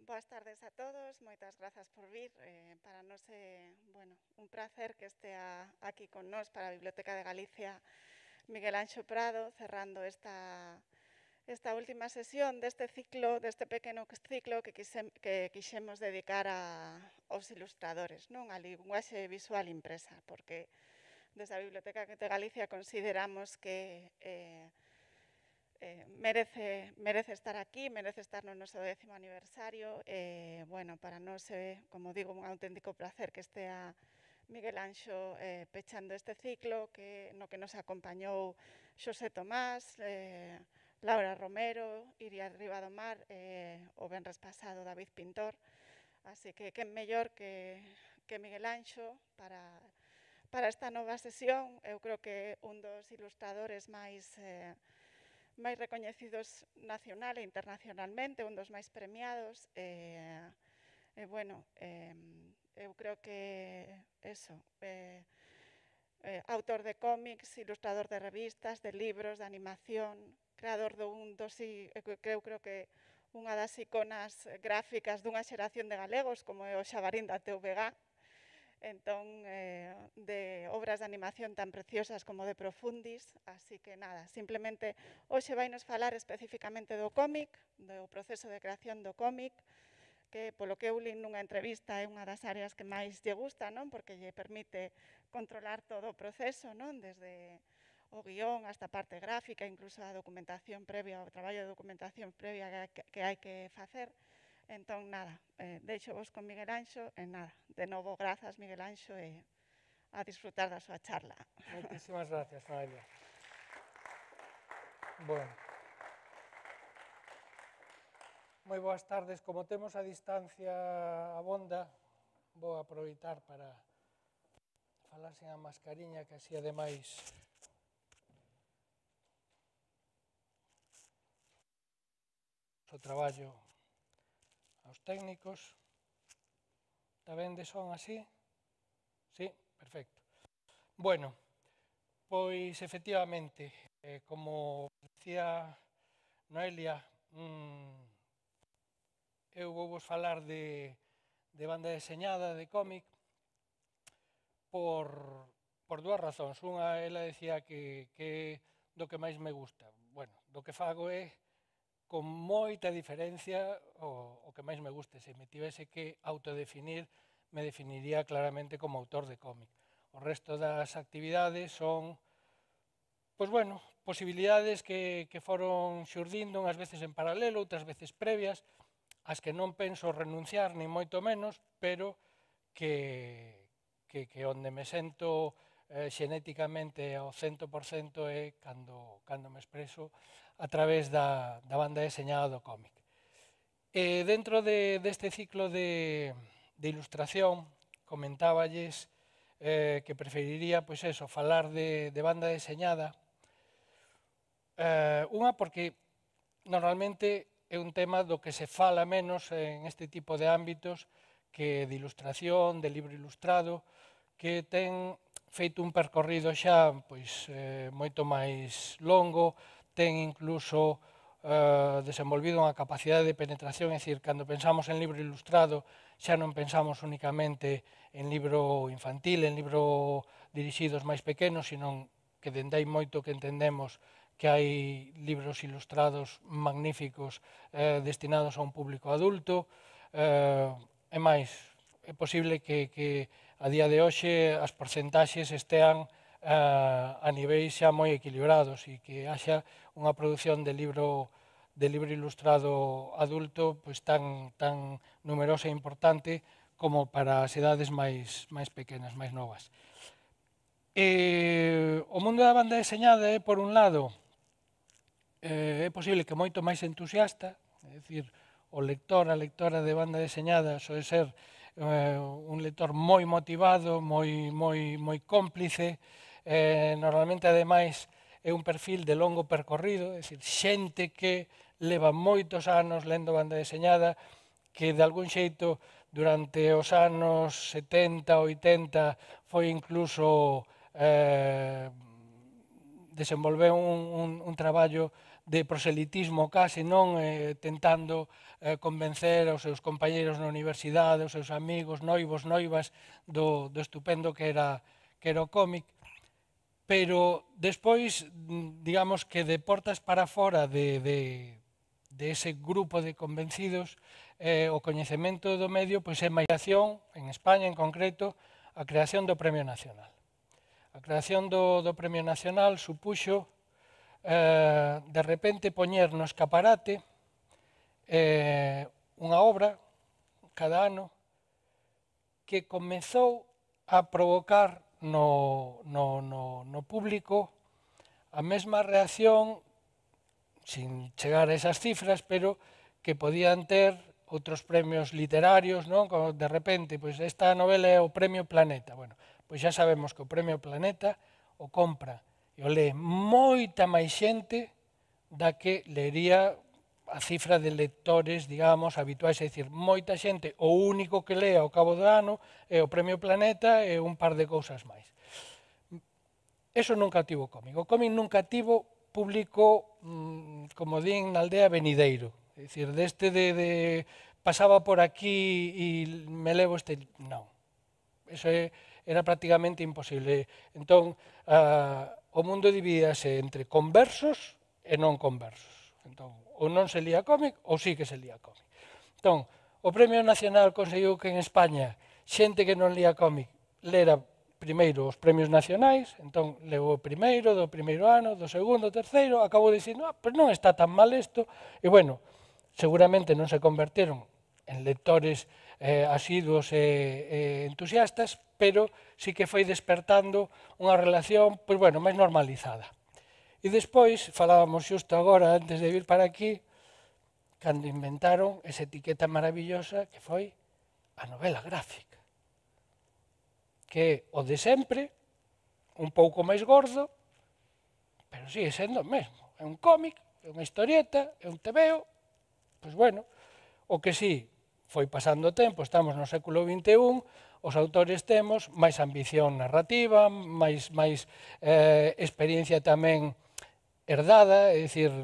boas tardes a todos, moitas grazas por vir. Para nós é un placer que estea aquí con nós para a Biblioteca de Galicia Miguel Anxo Prado, cerrando esta última sesión deste ciclo, deste pequeno ciclo que quixemos dedicar aos ilustradores, non? A linguaxe visual impresa, porque desde a Biblioteca de Galicia consideramos que merece estar aquí, merece estar no noso 10º aniversario. Para nós é, como digo, un auténtico placer que estea Miguel Anxo pechando este ciclo no que nos acompañou Xosé Tomás, Laura Romero, Iria Ribadomar, o venres pasado David Pintor. Así que quen mellor que Miguel Anxo para esta nova sesión. Eu creo que un dos ilustradores máis recoñecidos nacional e internacionalmente, un dos máis premiados. Eu creo que autor de cómics, ilustrador de revistas, de libros, de animación, creador eu creo que unha das iconas gráficas dunha xeración de galegos, como é o Xabarín da TVG. Entón, de obras de animación tan preciosas como de Profundis. Así que nada, simplemente hoxe vai nos falar especificamente do cómic, do proceso de creación do cómic, que polo que eu li nunha entrevista é unha das áreas que máis lle gusta, non? Porque lle permite controlar todo o proceso, non? Desde o guión hasta a parte gráfica, incluso a documentación previa, o traballo de documentación previa que hai que facer. Entón, nada, deixo vos con Miguel Anxo e nada, de novo, grazas, Miguel Anxo, e a disfrutar da súa charla. Moitísimas gracias, Noelia. Bueno, moi boas tardes. Como temos a distancia abonda, vou aproveitar para falar sen a mascariña, que así ademais o traballo aos técnicos. Está ben de son así? Sí, perfecto. Bueno, pois efectivamente, como decía Noelia, eu vou vos falar de banda deseñada, de cómic, por dúas razóns. Unha, ela decía que do que máis me gusta. Bueno, do que fago é con moita diferencia o que máis me guste. Se me tivese que autodefinir, me definiría claramente como autor de cómic. O resto das actividades son, posibilidades que foron xurdindo unhas veces en paralelo, outras veces previas, as que non penso renunciar, ni moito menos, pero que onde me sento xenéticamente ao 100% é cando me expreso a través da banda deseñada do cómic. Dentro deste ciclo de ilustración, comentáballes que preferiría, falar de banda deseñada. Unha, porque normalmente é un tema do que se fala menos en este tipo de ámbitos que de ilustración, de libro ilustrado, que ten feito un percorrido xa moito máis longo, ten incluso desenvolvido unha capacidade de penetración, é dicir, cando pensamos en libro ilustrado xa non pensamos únicamente en libro infantil, en libro dirixidos máis pequenos, sino que dende hai moito que entendemos que hai libros ilustrados magníficos destinados a un público adulto. É máis, é posible que a día de hoxe as porcentaxes estean a niveis xa moi equilibrados e que haxa unha produción de libro ilustrado adulto tan numerosa e importante como para as edades máis pequenas, máis novas. O mundo da banda deseñada é, por un lado, é posible que moito máis entusiasta, é dicir, o lector, a lectora de banda deseñada soe ser un lector moi motivado, moi cómplice, normalmente, ademais, é un perfil de longo percorrido, é dicir, xente que leva moitos anos lendo banda deseñada, que de algún xeito durante os anos 70, 80 foi incluso desenvolveu un traballo de proselitismo case, non tentando convencer aos seus compañeros na universidade, aos seus amigos, noivos, noivas, do estupendo que era o cómic, pero despois, digamos que de portas para fora de ese grupo de convencidos, o coñecemento do medio pois é máis acción, en España en concreto, a creación do Premio Nacional. A creación do Premio Nacional supuxo de repente poñer no escaparate unha obra cada ano que comezou a provocar no público a mesma reacción, sin chegar a esas cifras, pero que podían ter outros premios literarios, non? Como de repente, pois esta novela é o Premio Planeta. Bueno, pois xa sabemos que o Premio Planeta o compra e o lee moita máis xente da que leería a cifra de lectores, digamos, habituais, é dicir, moita xente, o único que lea ao cabo do ano é o Premio Planeta e un par de cousas máis. Eso nunca tivo o cómic. O cómic nunca tivo público, como din na aldea, venideiro. É dicir, deste de pasaba por aquí e me levo este... Non. Eso era prácticamente imposible. Entón, o mundo dividíase entre conversos e non conversos. Entón, ou non se lía cómic ou sí que se lía cómic. Entón, o Premio Nacional conseguiu que en España xente que non lía cómic lera primeiro os premios nacionais, entón leu o primeiro, do primeiro ano, do segundo, terceiro, acabou dicindo, pero non está tan mal isto, e bueno, seguramente non se converteron en lectores asiduos e entusiastas, pero sí que foi despertando unha relación, pois bueno, máis normalizada. E despois, falábamos xusto agora, antes de vir para aquí, cando inventaron esa etiqueta maravillosa que foi a novela gráfica, que é o de sempre, un pouco máis gordo, pero sigue sendo o mesmo. É un cómic, é unha historieta, é un tebeo, pois bueno, o que sí, foi pasando o tempo, estamos no século XXI, os autores temos máis ambición narrativa, máis experiencia tamén herdada, é dicir,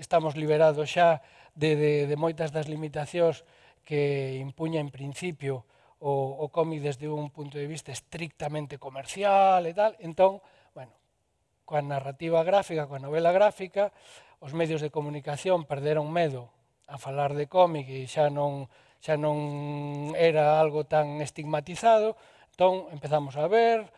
estamos liberados xa de moitas das limitacións que impuña en principio o cómic desde un punto de vista estrictamente comercial e tal. Entón, bueno, coa narrativa gráfica, coa novela gráfica, os medios de comunicación perderon medo a falar de cómic e xa non era algo tan estigmatizado, entón empezamos a ver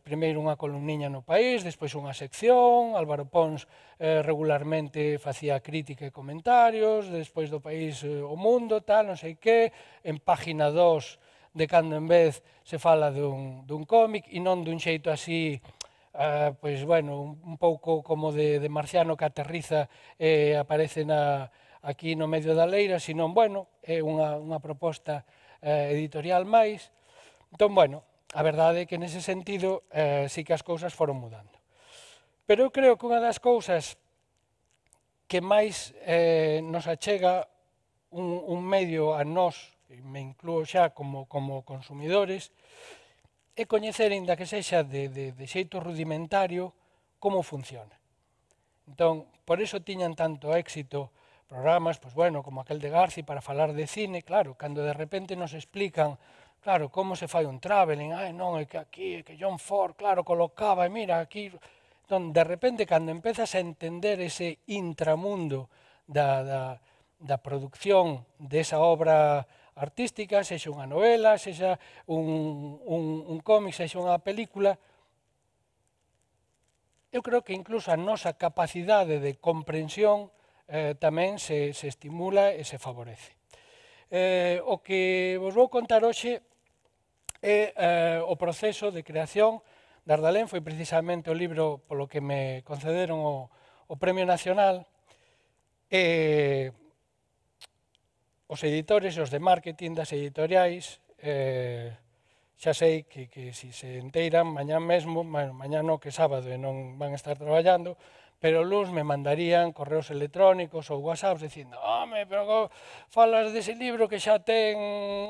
primeiro unha columniña no País, despois unha sección, Álvaro Pons regularmente facía crítica e comentarios, despois do País o Mundo, tal, non sei que, en página 2 de cando en vez se fala dun cómic e non dun xeito así, pois bueno, un pouco como de marciano que aterriza e aparece aquí no medio da leira, senón, bueno, é unha proposta editorial máis. Entón, bueno, a verdade é que nese sentido sí que as cousas foron mudando. Pero eu creo que unha das cousas que máis nos achega un medio a nós, e me incluo xa como consumidores, é coñecer, ainda que sexa de xeito rudimentario, como funciona. Entón, por iso tiñan tanto éxito programas, pois bueno, como aquel de Garci para falar de cine, claro, cando de repente nos explican, claro, como se fai un traveling, non, é que aquí, é que John Ford, claro, colocaba, e mira, aquí... Entón, de repente, cando empezas a entender ese intramundo da producción desa obra artística, sexa unha novela, sexa un cómic, sexa unha película, eu creo que incluso a nosa capacidade de comprensión tamén se estimula e se favorece. O que vos vou contar hoxe é o proceso de creación de Ardalén, foi precisamente o libro polo que me concederon o Premio Nacional, e os editores e os de marketing das editoriais, xa sei que se se enteiran mañán mesmo, mañán non, que sábado e non van a estar traballando, pero luns me mandarían correos electrónicos ou whatsapps dicindo home, pero falas dese libro que xa ten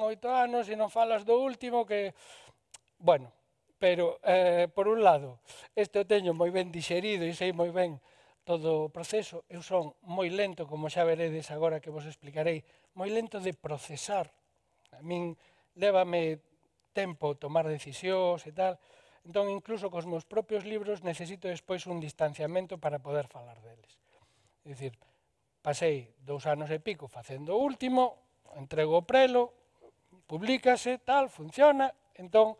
8 anos e non falas do último que... Bueno, pero, por un lado, este o teño moi ben dixerido e sei moi ben todo o proceso, eu son moi lento, como xa veredes agora que vos explicarei, moi lento de procesar. A min lévame tempo tomar decisións e tal, entón incluso cos meus propios libros necesito despois un distanciamento para poder falar deles. É dicir, pasei 2 anos e pico facendo o último, entrego o prelo, publícase, tal, funciona, entón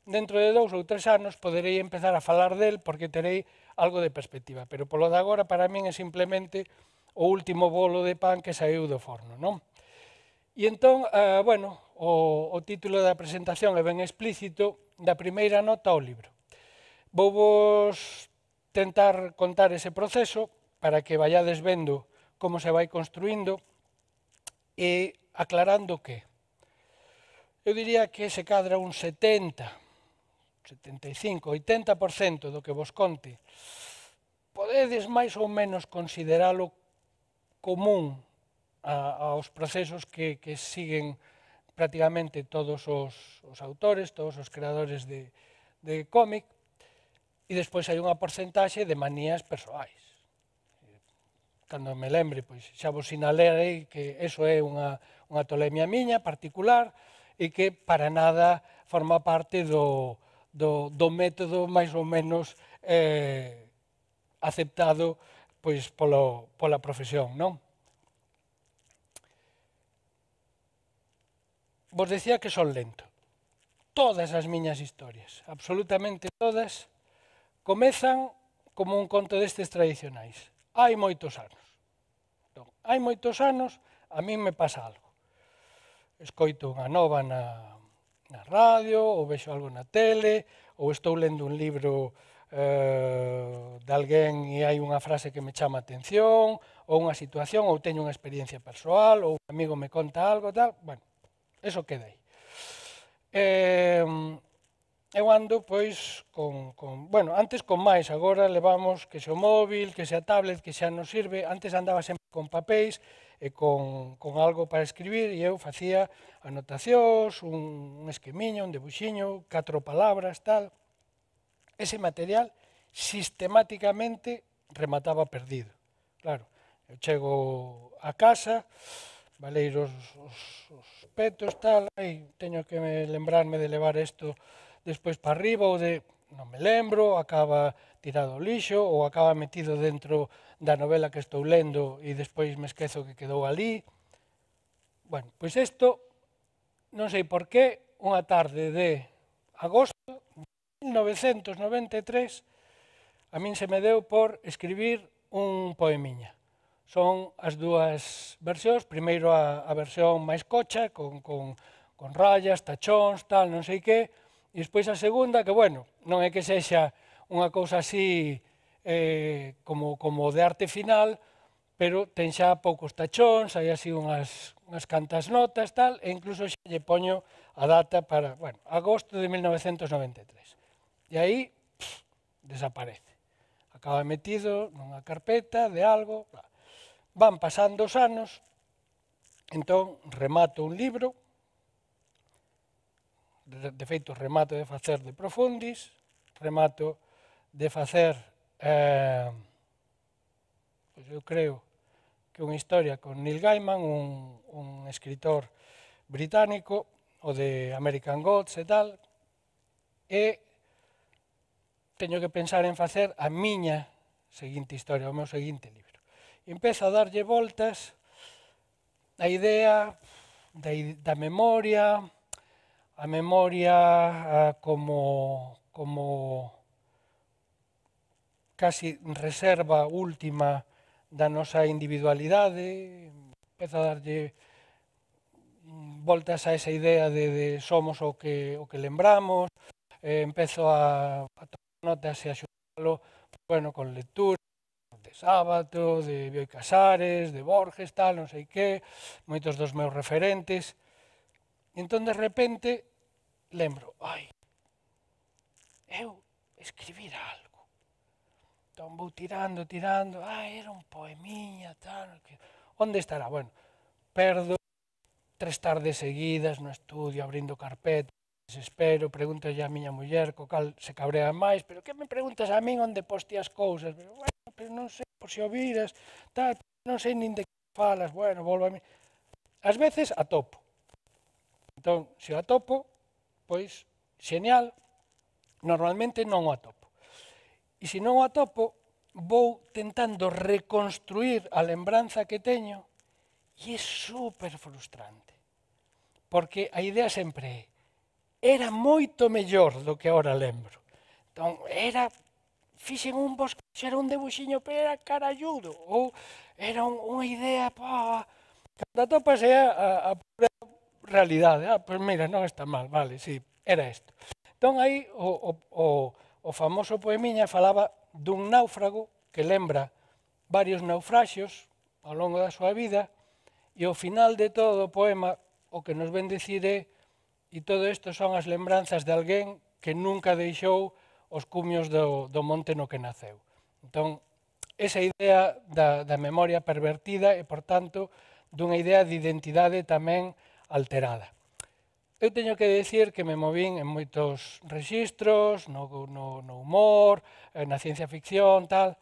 dentro de 2 ou 3 anos poderei empezar a falar del porque terei algo de perspectiva, pero polo de agora para min é simplemente o último bolo de pan que saiu do forno, non? E entón, bueno, o título da presentación é ben explícito, da primeira nota ao libro. Vou-vos tentar contar ese proceso para que vayades vendo como se vai construindo e aclarando que eu diría que se cadra un 70, 75, 80% do que vos conte podedes máis ou menos consideralo común aos procesos que siguen prácticamente todos os autores, todos os creadores de cómic, e despois hai unha porcentaxe de manías persoais. Cando me lembre, pois xa vos sinalerei que eso é unha tolemia miña particular e que para nada forma parte do método máis ou menos aceptado pois pola profesión, non? Vos decía que son lento. Todas as miñas historias, absolutamente todas, comezan como un conto destes tradicionais. Hai moitos anos. Entón, hai moitos anos, a min me pasa algo. Escoito unha nova na radio, ou vexo algo na tele, ou estou lendo un libro de alguén e hai unha frase que me chama a atención, ou unha situación, ou teño unha experiencia persoal, ou un amigo me conta algo, tal, bueno, eso queda aí. Eu ando, pois, bueno, antes con máis, agora levamos que se o móvil, que se a tablet, que xa nos sirve, antes andaba sempre con papéis e con algo para escribir e eu facía anotacións, un esquemiño, un debuxiño, 4 palabras, tal. Ese material sistemáticamente remataba perdido. Claro, eu chego a casa, valeiros os petos, tal, teño que lembrarme de levar isto despois para arriba, ou non me lembro, acaba tirado ao lixo, ou acaba metido dentro da novela que estou lendo e despois me esquezo que quedou ali. Bueno, pois isto, non sei por qué, unha tarde de agosto de 1993, a min se me deu por escribir un poemiña. Son as dúas versións, primeiro a versión máis cocha, con rayas, tachóns, tal, non sei que, e despois a segunda, que, bueno, non é que sexa unha cousa así como de arte final, pero ten xa poucos tachóns, hai así unhas cantas notas, tal, e incluso xa lle poño a data para, bueno, agosto de 1993. E aí, desaparece. Acaba metido nunha carpeta de algo, van pasando os anos, entón remato un libro, de feito remato de facer de profundis, remato de facer, pois eu creo que unha historia con Neil Gaiman, un escritor británico, o de American Gods e tal, e teño que pensar en facer a miña seguinte historia, o meu seguinte libro. E empezo a darlle voltas a idea da memoria, a memoria como casi reserva última da nosa individualidade, empezo a darlle voltas a esa idea de somos o que lembramos, empezo a tomar notas e a xutalo, bueno, con lectura, de Sábato, de Bioy Casares, de Borges, tal, non sei que, moitos dos meus referentes. E entón, de repente, lembro, eu escribir algo. Entón, vou tirando, era un poemiña, tal, onde estará? Bueno, perdo 3 tardes seguidas no estudio, abrindo carpetas, desespero, pregúntolle a miña muller, co cal se cabrea máis, pero que me preguntas a min onde poste as cousas? Pero, bueno, que non sei, por se o viras, tal, non sei nin de que falas, bueno, volvo a mí. Ás veces atopo. Entón, se o atopo, pois, xeñal, normalmente non o atopo. E se non o atopo, vou tentando reconstruir a lembranza que teño e é super frustrante. Porque a idea sempre era moito mellor do que agora lembro. Entón, fixen un bosquexo, era un debuxiño, pero era caralludo. Ou era unha idea, cando atopas é a pura realidade. Pois mira, non está mal, vale, sí, era isto. Entón, aí o famoso poemiña falaba dun náufrago que lembra varios naufraxios ao longo da súa vida e ao final de todo o poema o que nos ven dicir é e todo isto son as lembranzas de alguén que nunca deixou os cumios do monte no que naceu. Entón, esa idea da memoria pervertida e, por tanto, dunha idea de identidade tamén alterada. Eu teño que decir que me movín en moitos rexistros, no humor, na ciencia ficción, tal,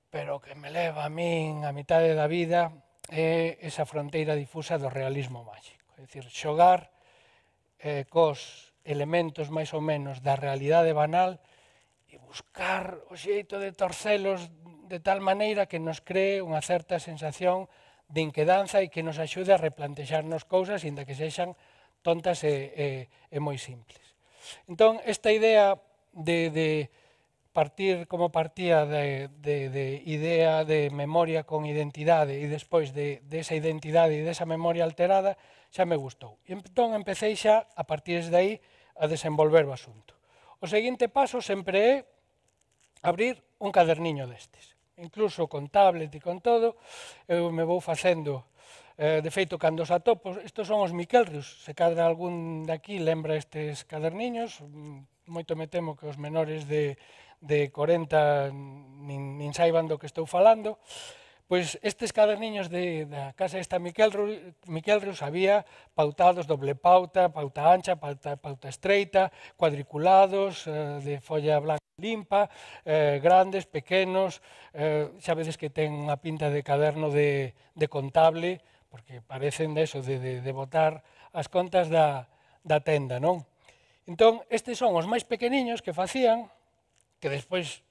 pero o que me leva a min a mitade da vida é esa fronteira difusa do realismo máxico. É dicir, xogar cos elementos máis ou menos da realidade banal e buscar o xeito de torcelos de tal maneira que nos cree unha certa sensación de inquedanza e que nos axude a replantexarnos cousas inda que sexan tontas e moi simples. Entón, esta idea de partir como partía de idea de memoria con identidade e despois de esa identidade e desa memoria alterada xa me gustou. E entón empecé xa a partir de aí a desenvolver o asunto. O seguinte paso sempre é abrir un caderniño destes. Incluso con tablet e con todo, eu me vou facendo. De feito, cando os atopo, estos son os Miquelrius, se cadra algún daqui lembra estes caderniños, moito me temo que os menores de 40 nin saiban do que estou falando. Pois estes caderniños da casa esta Miquelrius había pautados, doble pauta, pauta ancha, pauta estreita, cuadriculados, de folla blanca limpa, grandes, pequenos, xa vedes que ten unha pinta de caderno de contable, porque parecen de botar as contas da tenda, non? Entón, estes son os máis pequeniños que facían, que despois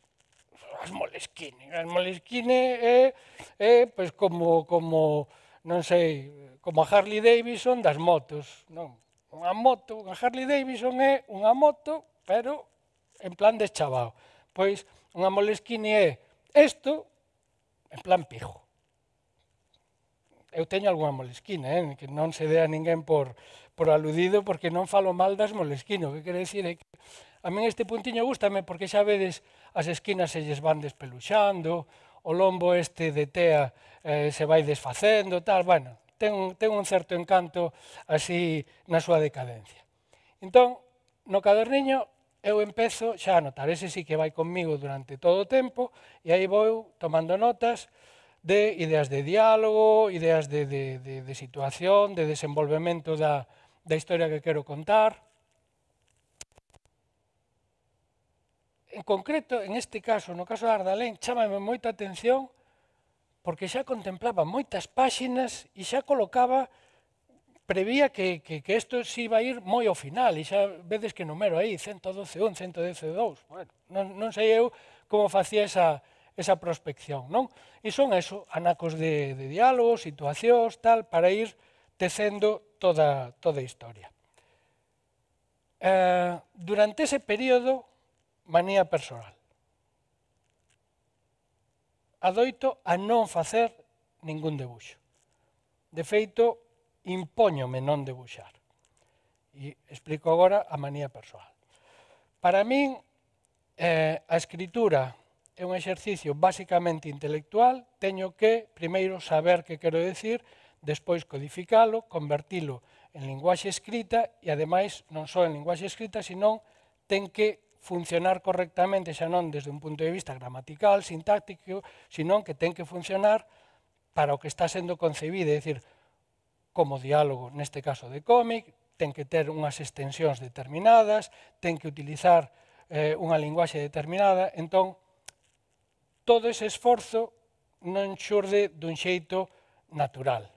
as Moleskine. As Moleskine é pois como non sei, como a Harley Davidson das motos, non? Unha Harley Davidson é unha moto, pero en plan deschavao. Pois unha Moleskine é isto en plan pijo. Eu teño algunha Moleskine, que non se dea ninguén por aludido porque non falo mal das Moleskine. O que quere dicir é que a min este puntiño gústame porque xa vedes as esquinas se lles van despeluxando, o lombo este de tea se vai desfacendo, tal, bueno, ten un certo encanto así na súa decadencia. Entón, no caderniño eu empezo xa a notar, ese sí que vai comigo durante todo o tempo, e aí vou tomando notas de ideas de diálogo, ideas de situación, de desenvolvemento da historia que quero contar. En concreto, en este caso, no caso de Ardalén, chámame moita atención porque xa contemplaba moitas páxinas e xa colocaba, prevía que isto se iba a ir moi ao final e xa vedes que numero aí, 112.1, 112.2. Bueno, non sei eu como facía esa prospección, non? E son eso, anacos de diálogo, situacións, tal, para ir tecendo toda a historia. Durante ese período, manía persoal. Adoito a non facer ningún debuxo. De feito, impóñome non debuxar. E explico agora a manía persoal. Para min, a escritura é un exercicio basicamente intelectual. Teño que, primeiro, saber que quero decir, despois codificalo, convertilo en linguaxe escrita e, ademais, non só en linguaxe escrita, senón ten que funcionar correctamente, xa non desde un punto de vista gramatical, sintáctico, senón que ten que funcionar para o que está sendo concebido, é dicir, como diálogo, neste caso de cómic, ten que ter unhas extensións determinadas, ten que utilizar unha linguaxe determinada. Entón, todo ese esforzo non xurde dun xeito natural.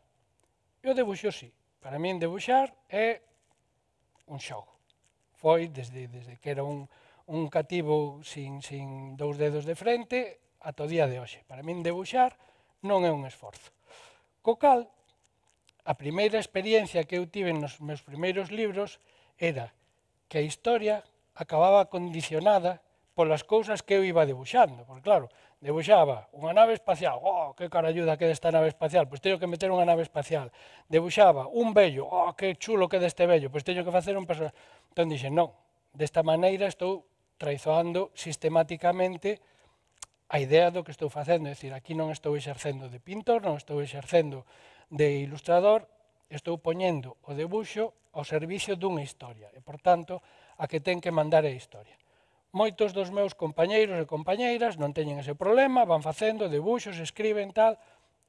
E o debuxo sí. Para min debuxar é un xogo. Foi desde que era un cativo sin dous dedos de frente ata o día de hoxe. Para min debuxar non é un esforzo. Co cal, a primeira experiencia que eu tive nos meus primeiros libros era que a historia acababa condicionada polas cousas que eu iba debuxando. Porque claro, debuxaba unha nave espacial, que caralluda queda esta nave espacial, pois teño que meter unha nave espacial. Debuxaba un vello, que chulo queda este vello, pois teño que facer un personaje. Entón dixen, non, desta maneira estou traizoando sistemáticamente a idea do que estou facendo. É dicir, aquí non estou exercendo de pintor, non estou exercendo de ilustrador, estou poñendo o debuxo ao servicio dunha historia. E, por tanto, a que ten que mandar é a historia. Moitos dos meus compañeiros e compañeiras non teñen ese problema, van facendo debuxos, escriben tal.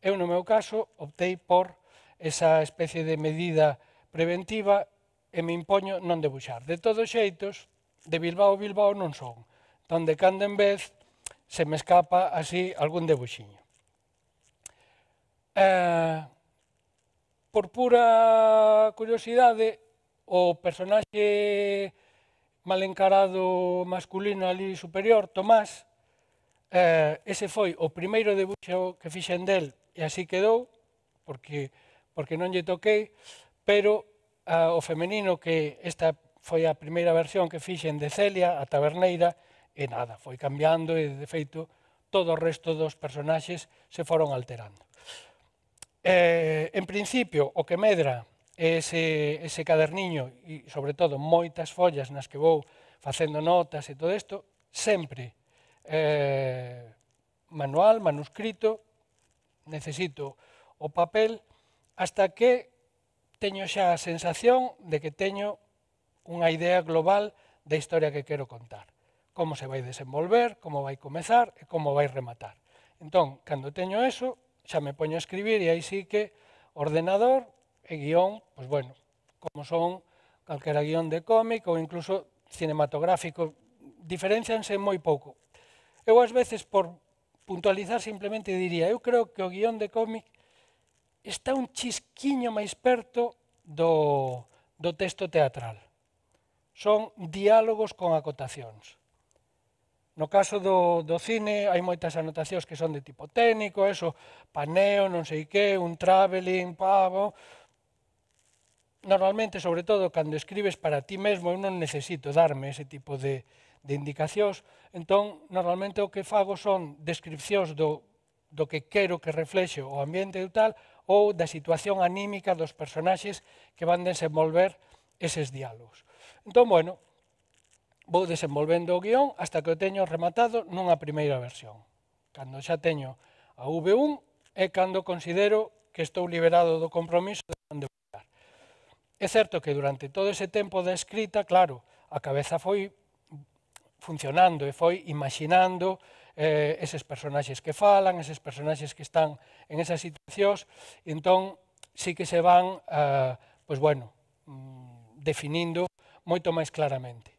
Eu, no meu caso, optei por esa especie de medida preventiva e me impoño non debuxar. De todos xeitos, de Bilbao a Bilbao non son. Entón, de cando en vez, se me escapa así algún debuxiño. Por pura curiosidade, o personaxe mal encarado masculino ali superior, Tomás, ese foi o primeiro debuxo que fixen del e así quedou, porque non lle toquei, pero o femenino, que esta foi a primeira versión que fixen de Celia, a taberneira, e nada, foi cambiando e, de feito, todo o resto dos personaxes se foron alterando. En principio, o que medra ese caderniño e, sobre todo, moitas follas nas que vou facendo notas e todo isto, sempre manual, manuscrito, necesito o papel, hasta que teño xa a sensación de que teño unha idea global da historia que quero contar. Como se vai desenvolver, como vai comezar e como vai rematar. Entón, cando teño eso, xa me poño a escribir e aí sí que ordenador e guión, pois bueno, como son calquera guión de cómic ou incluso cinematográfico, diferencianse moi pouco. Eu ás veces, por puntualizar, simplemente diría, eu creo que o guión de cómic está un chisquiño máis perto do texto teatral. Son diálogos con acotacións. No caso do cine hai moitas anotacións que son de tipo técnico, eso, paneo, non sei que, un traveling, pavo. Normalmente, sobre todo, cando escribes para ti mesmo, eu non necesito darme ese tipo de indicacións, entón, normalmente o que fago son descripcións do que quero que reflexe o ambiente e tal, ou da situación anímica dos personaxes que van desenvolver eses diálogos. Entón, bueno, vou desenvolvendo o guión hasta que o teño rematado nunha primeira versión. Cando xa teño a V1 é cando considero que estou liberado do compromiso de non debuxar. É certo que durante todo ese tempo da escrita, claro, a cabeza foi funcionando e foi imaginando eses personaxes que falan, eses personaxes que están en esas situacións, e entón sí que se van, pois bueno, definindo moito máis claramente.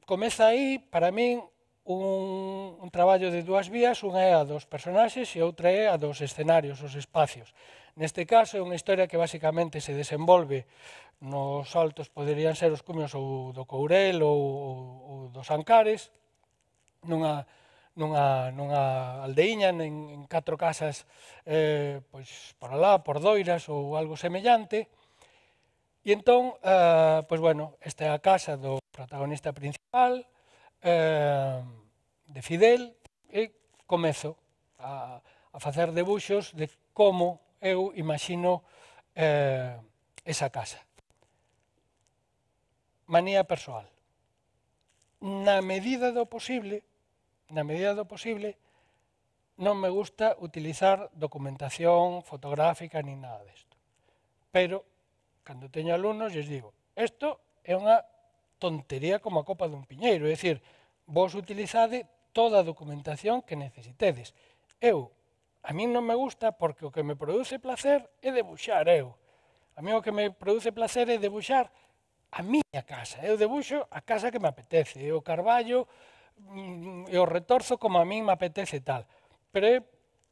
Comeza aí, para min, un traballo de dúas vías, unha é a dos personaxes e outra é a dos escenarios, os espacios. Neste caso é unha historia que basicamente se desenvolve nos altos, poderían ser os cumios ou do Courel ou dos Ancares, nunha aldeiña, en 4 casas pois por alá, por Doiras ou algo semellante. E entón, pois bueno, esta é a casa do protagonista principal, de Fidel, e comezo a facer debuxos de como eu imagino esa casa. Manía persoal. Na medida do posible, non me gusta utilizar documentación fotográfica ni nada desto. Pero, cando teño alumnos, lles digo, isto é unha tontería como a copa dun piñeiro, é dicir, vos utilizade toda a documentación que necesitedes. A min non me gusta porque o que me produce placer é debuxar eu. A mí o que me produce placer é debuxar a miña casa. Eu debuxo a casa que me apetece. O carballo e o retorzo como a min me apetece tal. Pero é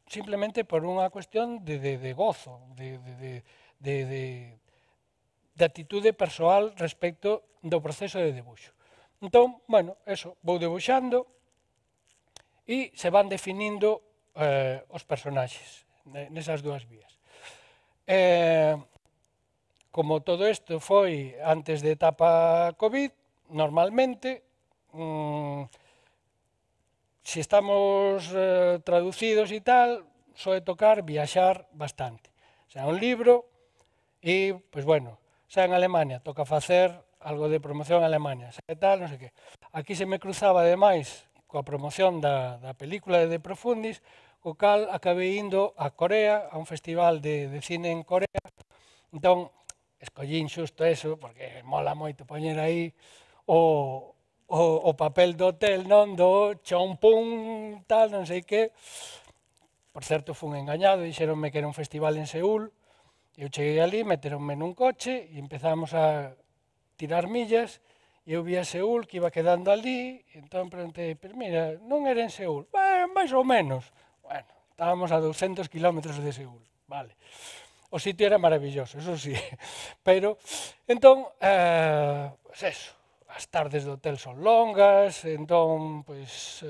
simplemente por unha cuestión de gozo, de actitude persoal respecto do proceso de debuxo. Entón, bueno, eso, vou debuxando e se van definindo os personaxes nesas dúas vías. Como todo isto foi antes de etapa COVID, normalmente, se estamos traducidos e tal, soe tocar viaxar bastante. Xa un libro e, pois bueno, xa en Alemania toca facer algo de promoción en Alemania, xa tal, non sei que. Aquí se me cruzaba ademais coa promoción da película de Profundis, co cal acabei indo a Corea, a un festival de cine en Corea. Entón, escollín xusto eso, porque mola moito poñer aí o papel do hotel, non? Do chompún, tal, non sei que. Por certo, fun engañado, dixeronme que era un festival en Seúl. Eu cheguei ali, meteronme nun coche e empezamos a tirar millas. E eu vi a Seúl que iba quedando ali, e entón preguntei, pero mira, non era en Seúl? Máis ou menos. Bueno, estábamos a 200 kilómetros de Seúl, vale. O sitio era maravilloso, eso sí. Pero, entón, pues eso, as tardes do hotel son longas, entón, pois,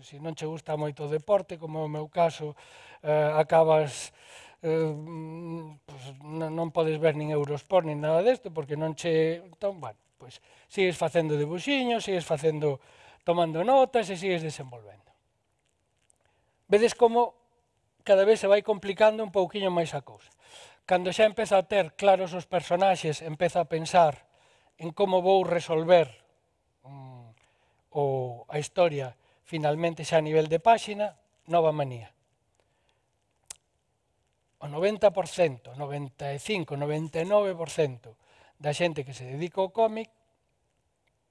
se non che gusta moito o deporte, como é o meu caso, acabas, pois, non podes ver nin Eurosport nin nada desto, porque non che... Entón, bueno, pois, sigues facendo debuxiños, sigues facendo, tomando notas e sigues desenvolvendo. Vedes como cada vez se vai complicando un pouquiño máis a cousa. Cando xa empeza a ter claros os personaxes, empeza a pensar en como vou resolver a historia finalmente xa a nivel de páxina, nova manía. O 90%, 95%, 99% da xente que se dedica ao cómic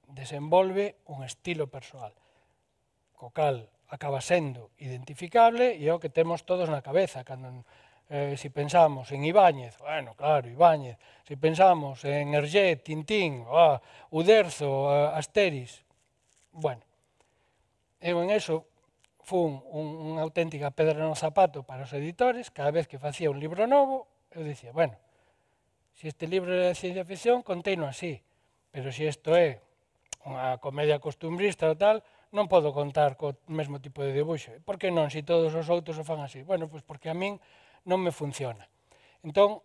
desenvolve un estilo persoal, co cal acaba sendo identificable e é o que temos todos na cabeza. Cando si pensamos en Ibáñez, bueno, claro, Ibáñez. Si pensamos en Hergé, Tintín, Uderzo, Asteris, bueno, eu en eso fun unha auténtica pedra no zapato para os editores. Cada vez que facía un libro novo, eu dicía, bueno, se este libro é de ciencia ficción, conteino así, pero se isto é unha comedia costumbrista ou tal, non podo contar co mesmo tipo de debuxo. Por que non, se todos os outros o fan así? Bueno, pois porque a min non me funciona. Entón,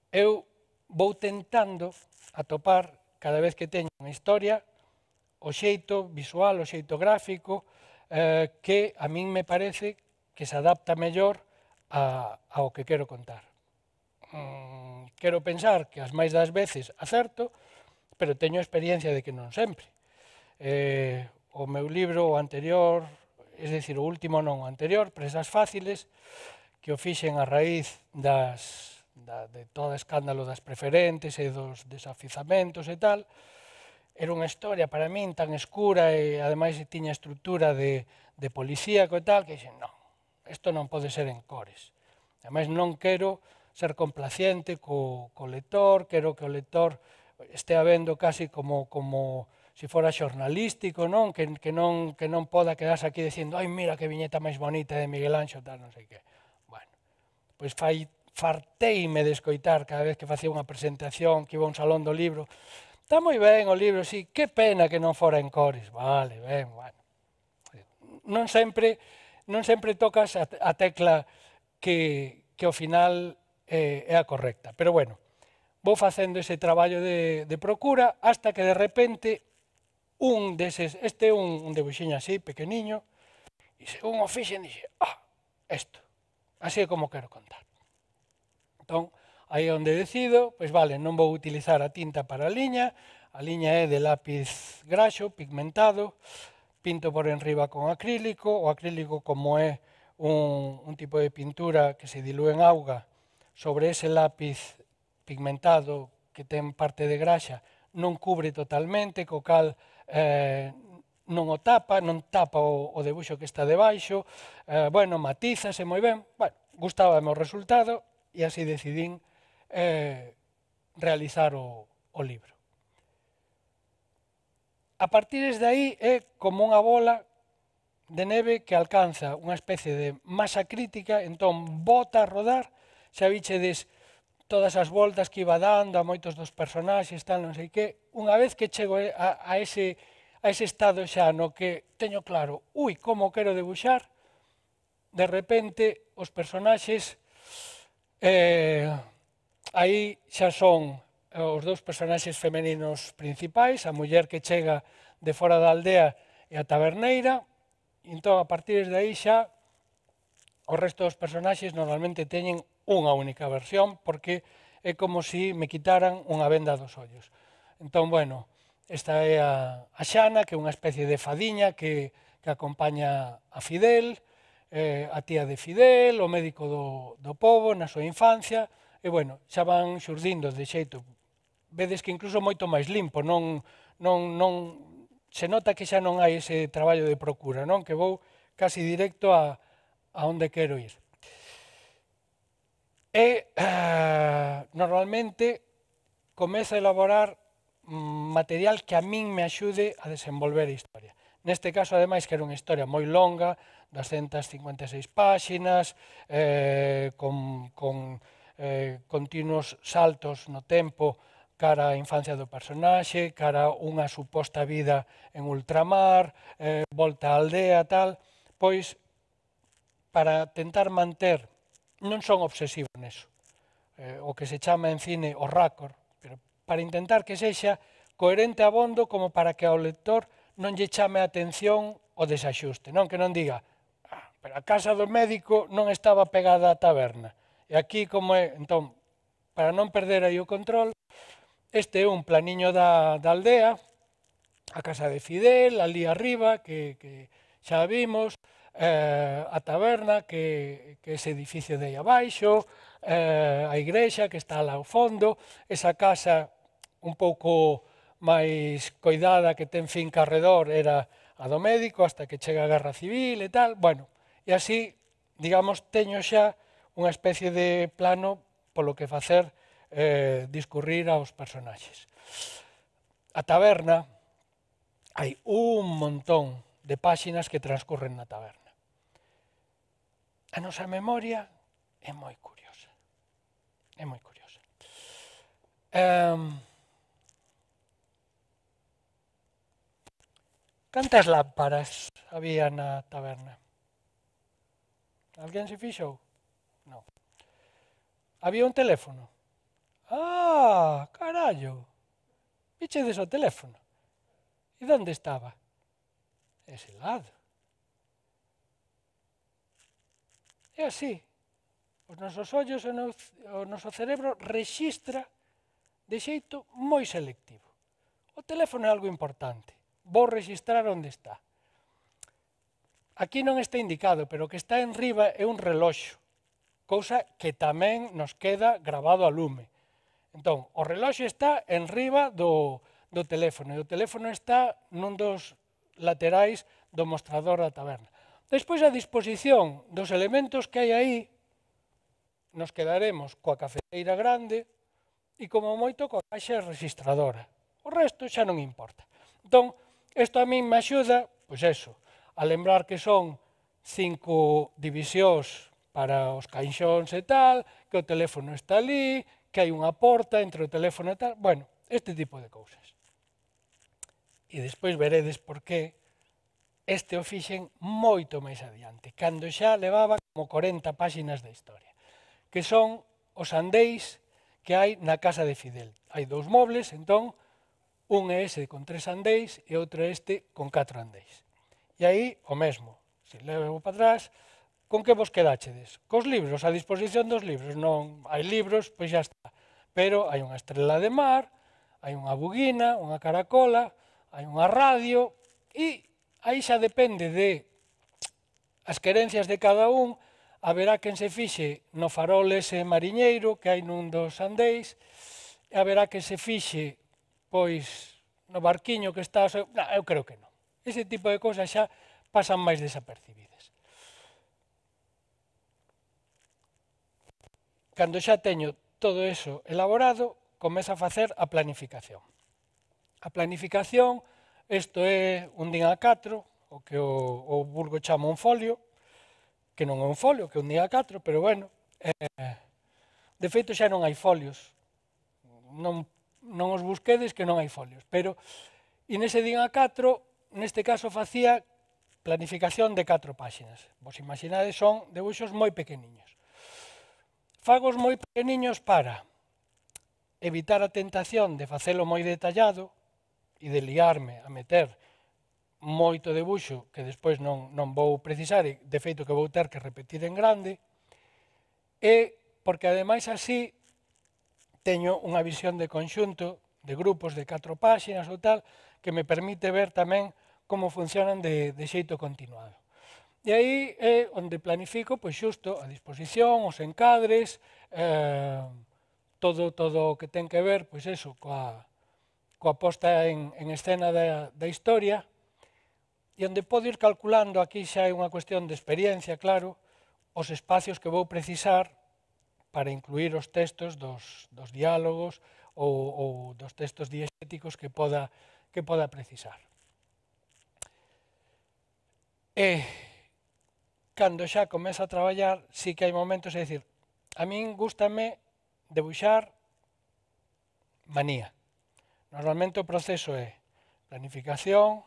eu vou tentando atopar, cada vez que teño unha historia, o xeito visual, o xeito gráfico, que a min me parece que se adapta mellor ao que quero contar. Quero pensar que as máis das veces acerto, pero teño experiencia de que non sempre. O meu libro, o anterior, es decir, o último non, o anterior, Presas Fáciles, que o fixen a raíz de todo o escándalo das preferentes e dos desafizamentos e tal, era unha historia para min tan escura e ademais tiña estrutura de policíaco e tal, que dixen, non, isto non pode ser en cores. Ademais non quero ser complaciente co lector, quero que o lector estea vendo casi como se fora xornalístico, non? Que non poda quedarse aquí dicindo, ai, mira que viñeta máis bonita de Miguel Anxo, tal, non sei que. Bueno, pois farteime de escoitar cada vez que facía unha presentación, que iba a un salón do libro. Está moi ben o libro, sí, que pena que non fora en cores. Vale, ben, bueno. Non sempre tocas a tecla que ao final é a correcta. Pero bueno, vou facendo ese traballo de procura hasta que de repente un deses, este é un debuxiño así, pequeniño, e según o fixen, dixe, isto, así é como quero contar. Entón, aí é onde decido, pois vale, non vou utilizar a tinta para a liña é de lápiz graxo, pigmentado, pinto por enriba con acrílico, o acrílico como é un tipo de pintura que se dilúe en auga, sobre ese lápiz pigmentado que ten parte de graxa, non cubre totalmente, co cal non tapa o debuxo que está debaixo, bueno, matízase moi ben, bueno, gustábame o resultado e así decidín realizar o libro. a partir de aí é como unha bola de neve que alcanza unha especie de masa crítica, entón bota a rodar, xa vichedes todas as voltas que iba dando a moitos dos personaxes, tal, non sei que, unha vez que chego a ese estado xa no que teño claro, como quero debuxar, de repente os personaxes aí xa son os dous personaxes femeninos principais, a muller que chega de fora da aldea e a taberneira, e entón a partir de aí xa o resto dos personaxes normalmente teñen unha única versión porque é como se me quitaran unha venda dos ollos. Entón, bueno, esta é a Xana, que é unha especie de fadiña que acompaña a Fidel, a tía de Fidel, o médico do pobo na súa infancia, e, bueno, xa van xurdindo de xeito, vedes que incluso moito máis limpo, se nota que xa non hai ese traballo de procura, non? Que vou casi directo a onde quero ir. E normalmente comezo a elaborar material que a min me axude a desenvolver a historia. Neste caso, ademais, que era unha historia moi longa, 256 páxinas, con continuos saltos no tempo cara á infancia do personaxe, cara a unha suposta vida en ultramar, volta á aldea, tal, pois para tentar manter, non son obsesivo neso, o que se chama en cine o raccord, pero para intentar que sexa coherente abondo como para que ao lector non lle chame a atención o desaxuste, non que non diga, pero a casa do médico non estaba pegada á taberna, e aquí como é, entón, para non perder aí o control, este é un planiño da aldea, a casa de Fidel, ali arriba, que xa vimos, a taberna, que é ese edificio de aí abaixo, a igrexa que está lá ao fondo, esa casa un pouco máis coidada que ten finca arredor era a do médico hasta que chega a Guerra Civil e tal, bueno, e así, digamos, teño xa unha especie de plano polo que facer discurrir aos personaxes. A taberna, hai un montón de páxinas que transcurren na taberna. A nosa memoria é moi curiosa. É moi curiosa. Cantas lámparas había na taberna? Alguén se fixou? Non. Había un teléfono? Ah, carallo! Vichedes o teléfono? E onde estaba? Ese lado. É así. Os nosos ollos, o noso cerebro rexistra de xeito moi selectivo. O teléfono é algo importante. Vou rexistrar onde está. Aquí non está indicado, pero o que está en riba é un reloxo, cousa que tamén nos queda grabado a lume. Entón, o reloxo está en riba do teléfono, e o teléfono está nun dos laterais do mostrador da taberna. Despois, a disposición dos elementos que hai aí, nos quedaremos coa cafeteira grande e, como moito, coa caixa registradora. O resto xa non importa. Entón, isto a min me axuda, pois eso, a lembrar que son 5 divisións para os caixóns e tal, que o teléfono está ali, que hai unha porta entre o teléfono e tal, bueno, este tipo de cousas. E despois veredes por que este o fixen moito máis adiante, cando xa levaba como 40 páxinas de historia, que son os andéis que hai na casa de Fidel. Hai 2 mobles, entón, un é ese con 3 andéis e outro é este con 4 andéis. E aí, o mesmo, se levo para atrás, con que vos quedachedes? Cos libros, a disposición dos libros, non hai libros, pois xa está. Pero hai unha estrela de mar, hai unha buguina, unha caracola, hai unha radio, e aí xa depende de as querencias de cada un, haberá quen se fixe no farol ese mariñeiro que hai nun dos andéis, e haberá quen se fixe, pois, no barquiño que está... Non, eu creo que non. Ese tipo de cousas xa pasan máis desapercibidas. Cando xa teño todo eso elaborado, comezo a facer a planificación. A planificación Isto é un din A4, o que o vulgo chama un folio, que non é un folio, que é un din A4, pero bueno, de feito xa non hai folios, non os busquedes que non hai folios, pero e nese din A4, neste caso facía planificación de 4 páxinas. Vos imaginades, son debuxos moi pequeniños. Fagos moi pequeniños para evitar a tentación de facelo moi detallado e de liarme a meter moito debuxo que despois non vou precisar e de feito que vou ter que repetir en grande, e porque ademais así teño unha visión de conxunto de grupos de 4 páxinas ou tal que me permite ver tamén como funcionan de xeito continuado. E aí é onde planifico pois xusto a disposición, os encadres, todo o que ten que ver pois eso, coa posta en escena da historia, e onde podo ir calculando, aquí xa é unha cuestión de experiencia, claro, os espacios que vou precisar para incluir os textos dos diálogos ou dos textos diexéticos que poda precisar. E cando xa comezo a traballar, sí que hai momentos, é dicir, a min gústame debuxar manía. Normalmente o proceso é planificación,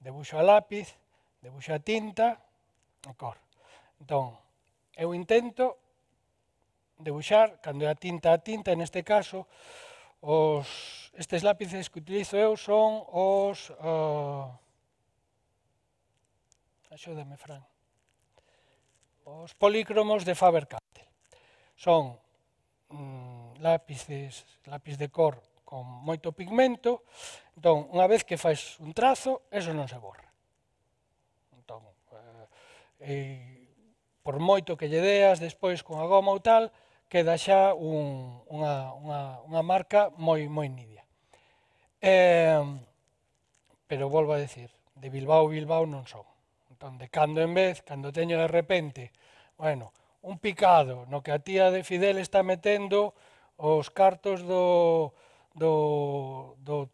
debuxo a lápiz, debuxo a tinta e cor. Entón, eu intento debuxar, cando é a tinta, neste caso, estes lápices que utilizo eu son os... axúdame, Fran. Os polícromos de Faber-Castell. Son lápiz de cor con moito pigmento, entón, unha vez que faz un trazo, eso non se borra. Entón, por moito que lle deas despois con a goma ou tal, queda xa unha marca moi nidia. Pero volvo a decir, de Bilbao non son. Entón, de cando en vez, cando teño de repente, bueno, un picado no que a tía de Fidel está metendo os cartos do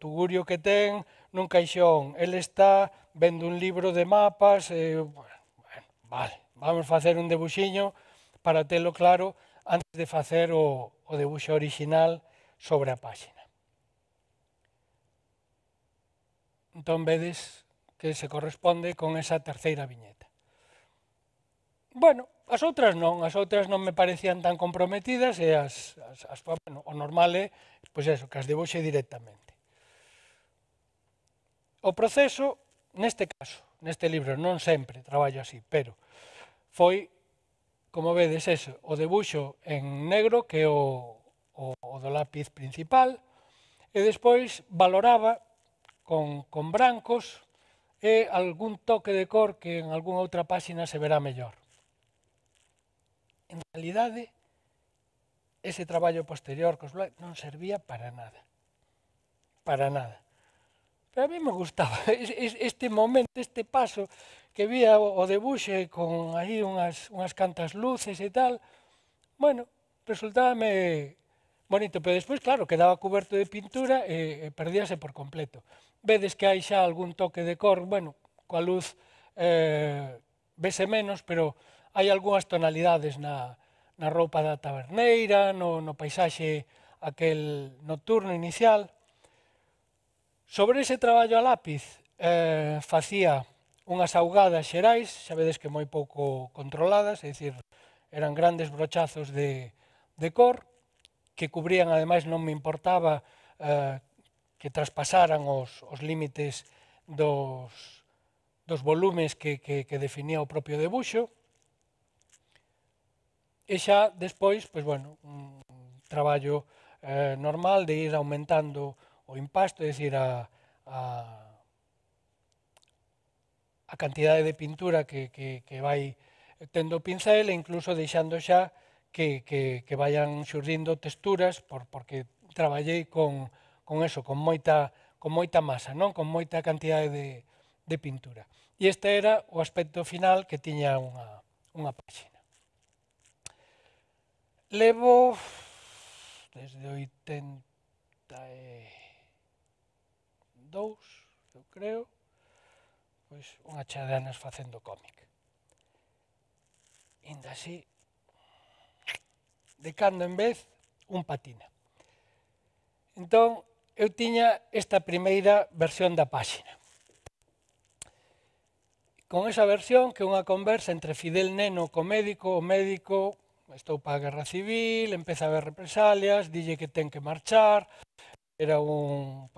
tugurio que ten nun caixón, el está vendo un libro de mapas, vale, vamos facer un debuxiño para telo claro antes de facer o debuxo orixinal sobre a páxina. Entón vedes que se corresponde con esa terceira viñeta. Bueno, as outras non me parecían tan comprometidas e bueno, o normal é, pois eso, que as debuxe directamente. O proceso, neste caso, neste libro, non sempre traballo así, pero foi, como vedes, eso, o debuxo en negro, que é o do lápiz principal, e despois valoraba con brancos e algún toque de cor que en algunha outra páxina se verá mellor. En realidade, ese traballo posterior cos blancos non servía para nada. Para nada. Pero a mí me gustaba este momento, este paso que vía o debuxe con aí unhas cantas luces e tal. Bueno, resultábame bonito, pero despois, claro, quedaba cuberto de pintura e perdíase por completo. Vedes que hai xa algún toque de cor, bueno, coa luz vese menos, pero hai algunhas tonalidades na roupa da taberneira, no paisaxe aquel nocturno inicial. Sobre ese traballo a lápiz facía unhas augadas xerais, xa vedes que moi pouco controladas, é dicir, eran grandes brochazos de cor, que cubrían, ademais non me importaba que traspasaran os límites dos volumes que definía o propio debuxo. E xa despois, pois bueno, un traballo normal de ir aumentando o impasto, é dicir, a cantidade de pintura que vai tendo o pincel e incluso deixando xa que vayan xurdindo texturas porque traballei con eso, con moita masa, non? Con moita cantidade de pintura. E este era o aspecto final que tiña unha páxina. Levo desde 82, eu creo, pois unha chea de anos facendo cómic. Inda así, de cando en vez, un patina. Entón, eu tiña esta primeira versión da páxina. Con esa versión, que é unha conversa entre Fidel Neno co médico, o médico, estou para a guerra civil, empeza a haber represalias, dille que ten que marchar, era un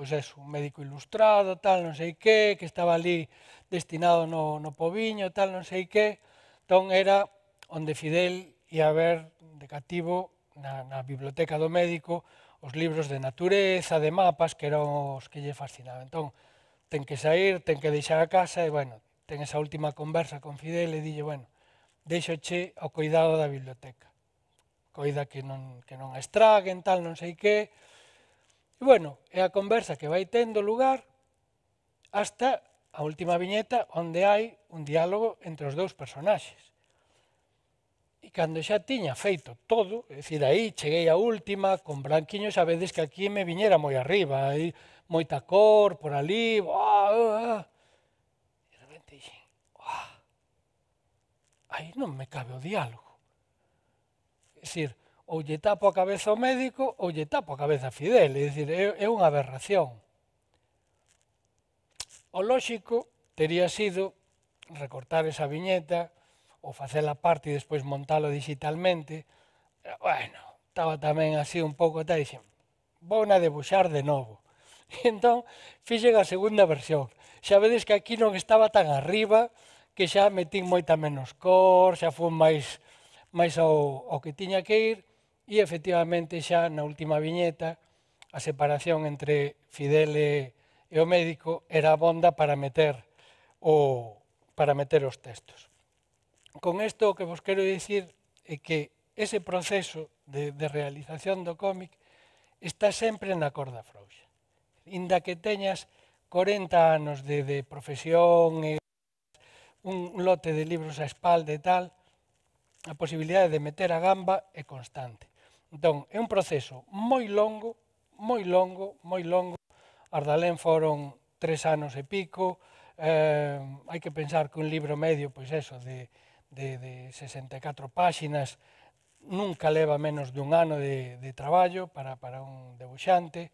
médico ilustrado, tal, non sei que estaba ali destinado no Poviño, tal, non sei que. Entón era onde Fidel ia ver de cativo na biblioteca do médico os libros de natureza, de mapas, que eran os que lle fascinaban. Entón, ten que sair, ten que deixar a casa e, bueno, ten esa última conversa con Fidel e dille, bueno, deixoche ao cuidado da biblioteca. Coida que non a estraguen, tal, non sei que. E, bueno, é a conversa que vai tendo lugar hasta a última viñeta onde hai un diálogo entre os dous personaxes. E cando xa tiña feito todo, é dicir, aí cheguei a última, con branquiño, sabedes que aquí me viñera moi arriba, aí moita cor por ali, e de repente dixen, aí non me cabe o diálogo. É dicir, ou lle tapo a cabeza ao médico ou lle tapo a cabeza a Fidel, é dicir, é unha aberración. O lóxico tería sido recortar esa viñeta ou facela parte e despois montalo digitalmente. Bueno, estaba tamén así un pouco tal, e dixen, vou na debuxar de novo. E entón, fixen a segunda versión. Xa vedes que aquí non estaba tan arriba, que xa metín moita menos cor, xa fun máis ao que tiña que ir, e efectivamente xa na última viñeta a separación entre Fidel e o médico era abonda para meter os textos. Con isto o que vos quero dicir é que ese proceso de realización do cómic está sempre na corda frouxa. Inda que teñas 40 anos de profesión e un lote de libros a espalda e tal, a posibilidade de meter a gamba é constante. Entón, é un proceso moi longo, moi longo, moi longo. Ardalén foron 3 anos e pico, hai que pensar que un libro medio, pois eso, de 64 páxinas, nunca leva menos dun ano de traballo para un debuxante.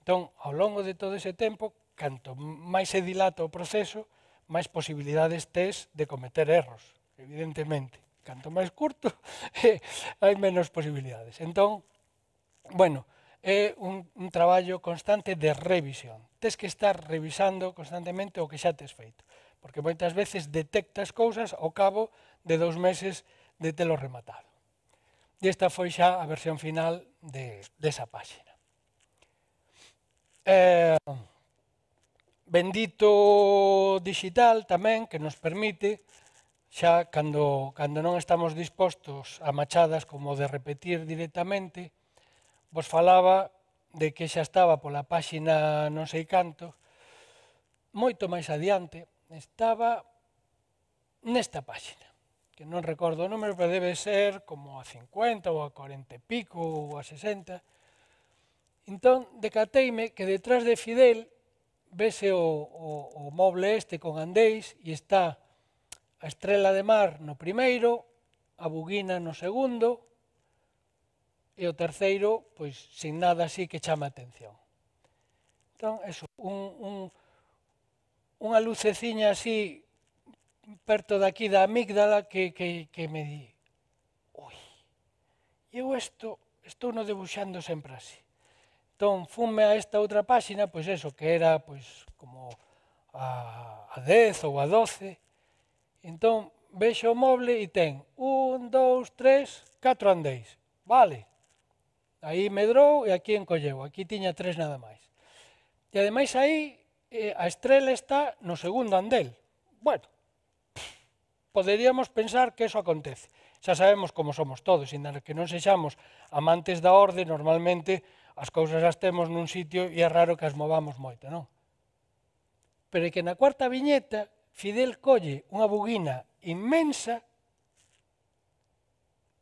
Entón, ao longo de todo ese tempo, canto máis se dilata o proceso, máis posibilidades tes de cometer erros, evidentemente. Canto máis curto, hai menos posibilidades. Entón, bueno, é un traballo constante de revisión. Tes que estar revisando constantemente o que xa tes feito, porque moitas veces detectas cousas ao cabo de 2 meses de telo rematado. E esta foi xa a versión final desa páxina. Bendito digital tamén, que nos permite, xa cando non estamos dispostos a machadas como de repetir directamente, vos falaba de que xa estaba pola páxina non sei canto, moito máis adiante, estaba nesta páxina, que non recordo o número, pero debe ser como a 50 ou a 40 e pico ou a 60. Entón, decateime que detrás de Fidel vese o moble este con andéis e está a estrela de mar no primeiro, a buguina no segundo e o terceiro, pois, sin nada así que chame a atención. Entón, eso, unha luceciña así perto daqui da amígdala que me di, ui, eu estou no debuxando sempre así. Entón, funme a esta outra páxina, pois eso, que era pois como a 10 ou a 12. Entón, vexo o moble e ten 1, 2, 3, 4 andéis. Vale. Aí medrou e aquí encolleu. Aquí tiña 3 nada máis. E ademais aí a estrela está no segundo andel. Bueno, poderíamos pensar que eso acontece. Xa sabemos como somos todos, inda que non sexamos amantes da orde, normalmente as cousas as temos nun sitio e é raro que as movamos moito, non? Pero é que na cuarta viñeta Fidel colle unha buguina inmensa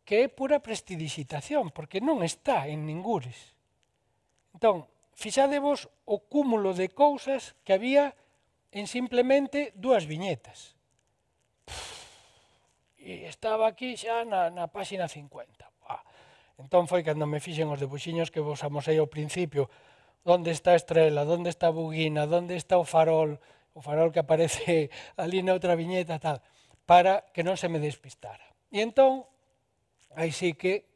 que é pura prestidigitación, porque non está en ningures. Entón, fixadevos o cúmulo de cousas que había en simplemente 2 viñetas. E estaba aquí xa na páxina 50. Entón foi cando me fixen os debuxiños que vos amosei ao principio, onde está a estrela, onde está a buguina, onde está o farol que aparece ali na outra viñeta, tal, para que non se me despistara. E entón, aí sí que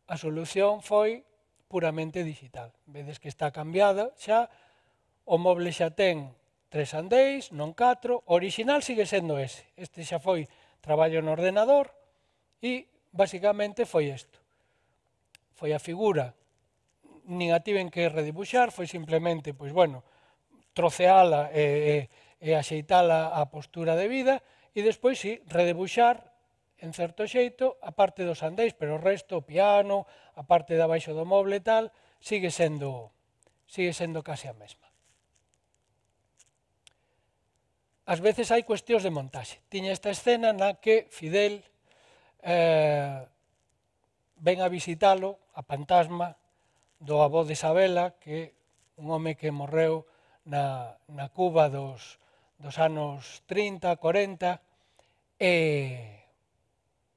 a solución foi puramente digital. Vedes que está cambiada xa, o moble xa ten 3 andéis, non 4, o original sigue sendo ese. Este xa foi traballo no ordenador e basicamente foi isto. Foi a figura, nin a tiven que redibuxar, foi simplemente, pois bueno, troceala e axeitala a postura de vida e despois sí, redibuxar en certo xeito a parte dos andéis, pero o resto, o piano, a parte de abaixo do moble e tal, sigue sendo case a mesma. Ás veces hai cuestións de montaxe. Tiña esta escena na que Fidel ven a visitalo, a fantasma do avó de Isabela, que un home que morreu na Cuba dos anos 30, 40, e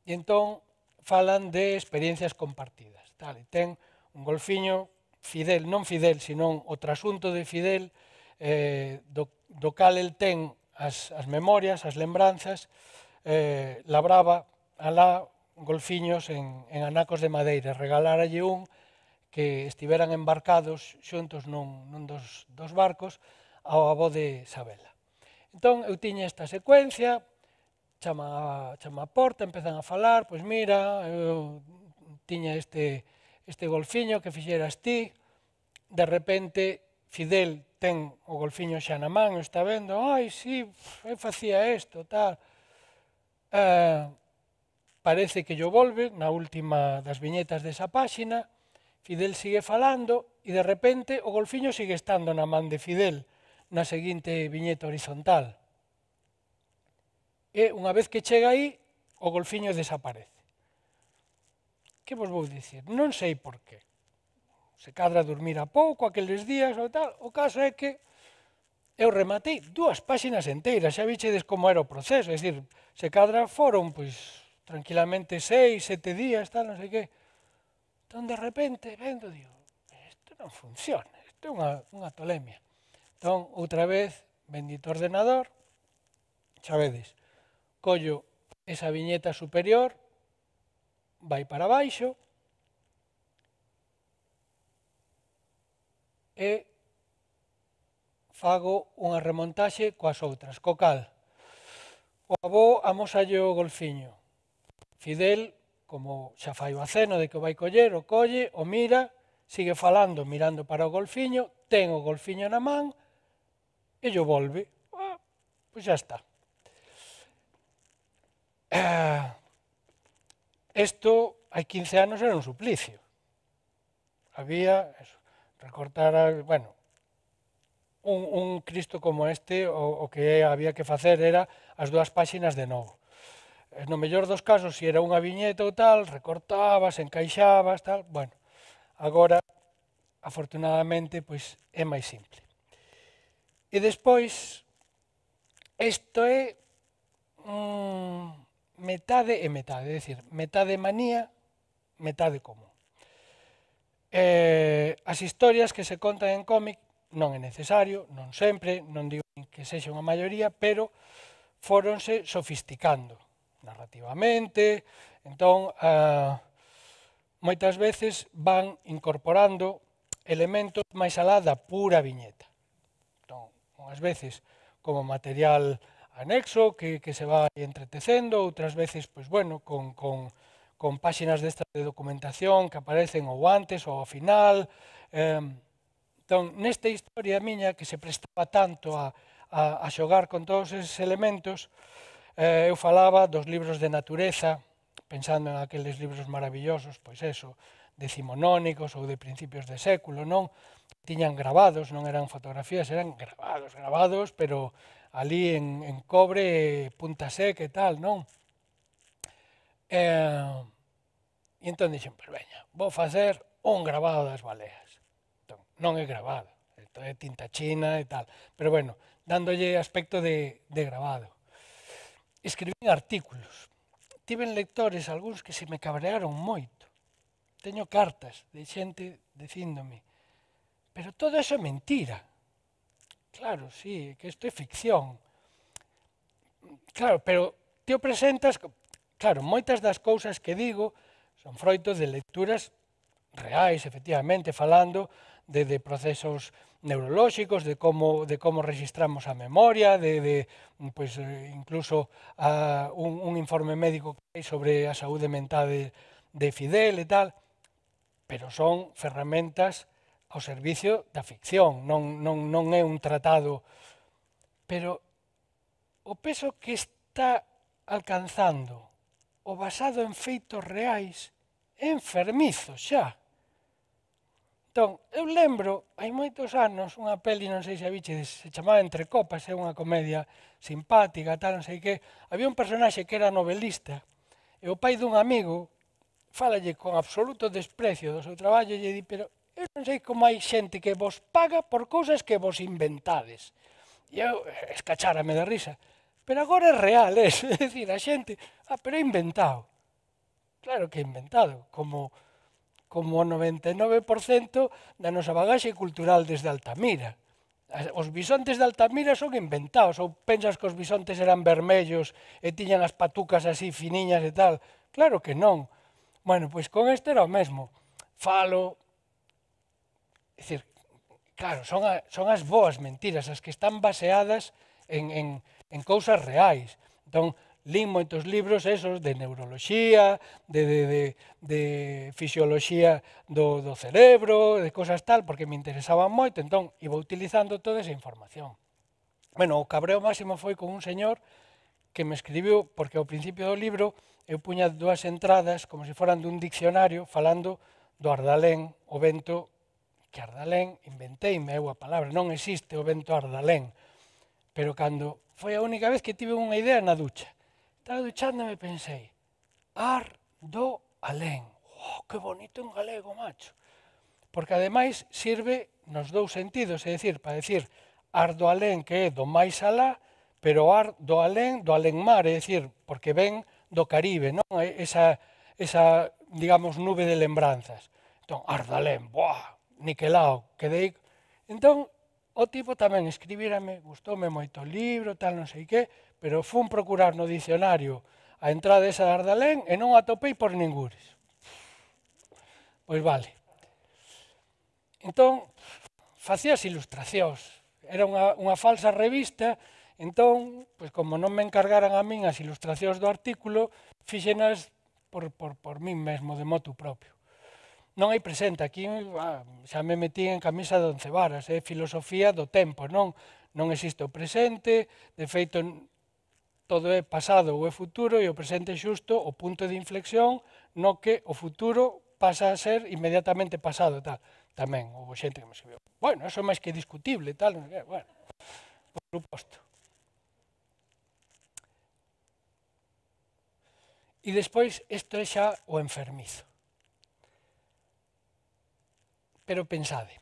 entón falan de experiencias compartidas. E ten un golfiño, Fidel, non Fidel, sino o trasunto de Fidel, do cal el ten as memorias, as lembranzas, labraba alá golfiños en anacos de madeira, regaláralle un que estiveran embarcados xuntos nun dos barcos ao avó de Isabela. Entón, eu tiña esta secuencia, chama a porta, empezan a falar, pois mira, eu tiña este golfiño que fixeras ti, de repente Fidel ten o golfiño xa na man, está vendo, ai, sí, eu facía isto, tal. Parece que llo volve, na última das viñetas desa páxina, Fidel sigue falando e de repente o golfiño sigue estando na man de Fidel na seguinte viñeta horizontal. E unha vez que chega aí, o golfiño desaparece. Que vos vou dicir? Non sei por qué. Se cadra dormir a pouco aqueles días ou tal, o caso é que eu rematei 2 páxinas enteiras, xa vichedes como era o proceso, é dicir, se cadra foron, pois, tranquilamente 6, 7 días, tal, non sei que. Entón, de repente, vendo, digo, isto non funciona, isto é unha tolemia. Entón, outra vez, bendito ordenador, xa vedes, collo esa viñeta superior, vai para baixo, e fago unha remontaxe coas outras, co cal o avó amosalle o golfiño. Fidel, como xa fai o aceno de que o vai coller, o colle, o mira, sigue falando, mirando para o golfiño, ten o golfiño na man e llo volve. Pois xa está. Isto, hai 15 anos, era un suplicio. Había, recortar, bueno, un Cristo como este, o que había que facer era as 2 páxinas de novo. No mellor dos casos, se era unha viñeta ou tal, recortabas, encaixabas, tal, bueno, agora, afortunadamente, pois é máis simple. E despois, isto é metade e metade, é dicir, metade manía, metade común. As historias que se contan en cómic non é necesario, non sempre, non digo que sexa unha maioría, pero fóronse sofisticando narrativamente, entón moitas veces van incorporando elementos máis alá da pura viñeta. Entón, unhas veces como material anexo que se vai entretecendo, outras veces, pois bueno, con páxinas destas de documentación que aparecen ou antes ou ao final. Entón, nesta historia miña que se prestaba tanto a xogar con todos eses elementos, eu falaba dos libros de natureza, pensando en aqueles libros maravillosos, pois eso, decimonónicos ou de principios de século, non? Tiñan grabados, non eran fotografías, eran grabados, pero ali en cobre, punta seca e tal, non? E entón dixen, pois veña, vou facer un grabado das baleas. Entón, non é grabado, é tinta china e tal. Pero bueno, dándolle aspecto de grabado. Escribín artículos. Tiven lectores, algúns que se me cabrearon moito. Teño cartas de xente dicíndome, pero todo eso é mentira. Claro, sí, que isto é ficción. Claro, pero ti o presentas, claro, moitas das cousas que digo son froito de lecturas reais, efectivamente, falando de procesos neurolóxicos, de como registramos a memoria, pues, incluso un informe médico que hai sobre a saúde mental de Fidel e tal, pero son ferramentas ao servicio da ficción, non é un tratado, pero o peso que está alcanzando o basado en feitos reais é enfermizo xa. Entón, eu lembro, hai moitos anos, unha peli, non sei se a viches, se chamaba Entre copas, é unha comedia simpática, tal, non sei que, había un personaxe que era novelista, e o pai dun amigo fálalle con absoluto desprecio do seu traballo e lle di, pero eu non sei como hai xente que vos paga por cousas que vos inventades. E eu escachárame de risa. Pero agora é real, é dicir, a xente, pero é inventado. Claro que é inventado, como o 99% da nosa bagaxe cultural desde Altamira. Os bisontes de Altamira son inventados, ou pensas que os bisontes eran vermellos e tiñan as patucas así finiñas e tal? Claro que non. Bueno, pois con este era o mesmo. Falo, é dicir, claro, son as boas mentiras, as que están baseadas en cousas reais. Entón, lín moitos libros esos de neuroloxía, de fisioloxía do cerebro, de cosas tal, porque me interesaban moito, entón iba utilizando toda esa información. Bueno, o cabreo máximo foi con un señor que me escribiu, porque ao principio do libro eu puña dúas entradas como se foran dun diccionario falando do Ardalén, o vento que Ardalén, inventeime eu a palabra, non existe o vento Ardalén, pero cando foi a única vez que tive unha idea na ducha. Estaba duchándome e pensei, Ar-do-alén. Oh, que bonito en galego, macho. Porque ademais sirve nos dous sentidos, é dicir, para decir ar-do-alén, que é do máis alá, pero ar-do-alén, do alén-mar, é dicir, porque ven do Caribe, non? Esa digamos, nube de lembranzas. Entón, Ardalén, boa, niquelao, quedei. Entón, o tipo tamén escribírame, gustoume moito o libro, tal, non sei que, pero fun procurar no dicionario a entrada esa de Ardalén e non a atopei por ningures. Pois vale. Entón, facías ilustracións. Era unha falsa revista, entón, pois como non me encargaran a min as ilustracións do artículo, fixenas por min mesmo, de motu propio. Non hai presente, aquí xa me metí en camisa de 11 varas, é filosofía do tempo, non existe o presente, de feito todo é pasado ou é futuro e o presente é xusto o punto de inflexión no que o futuro pasa a ser inmediatamente pasado, tal. Tamén houve xente que me escribiu, bueno, eso é máis que discutible, tal, bueno, por suposto. E despois, isto é xa o enfermizo. Pero pensade,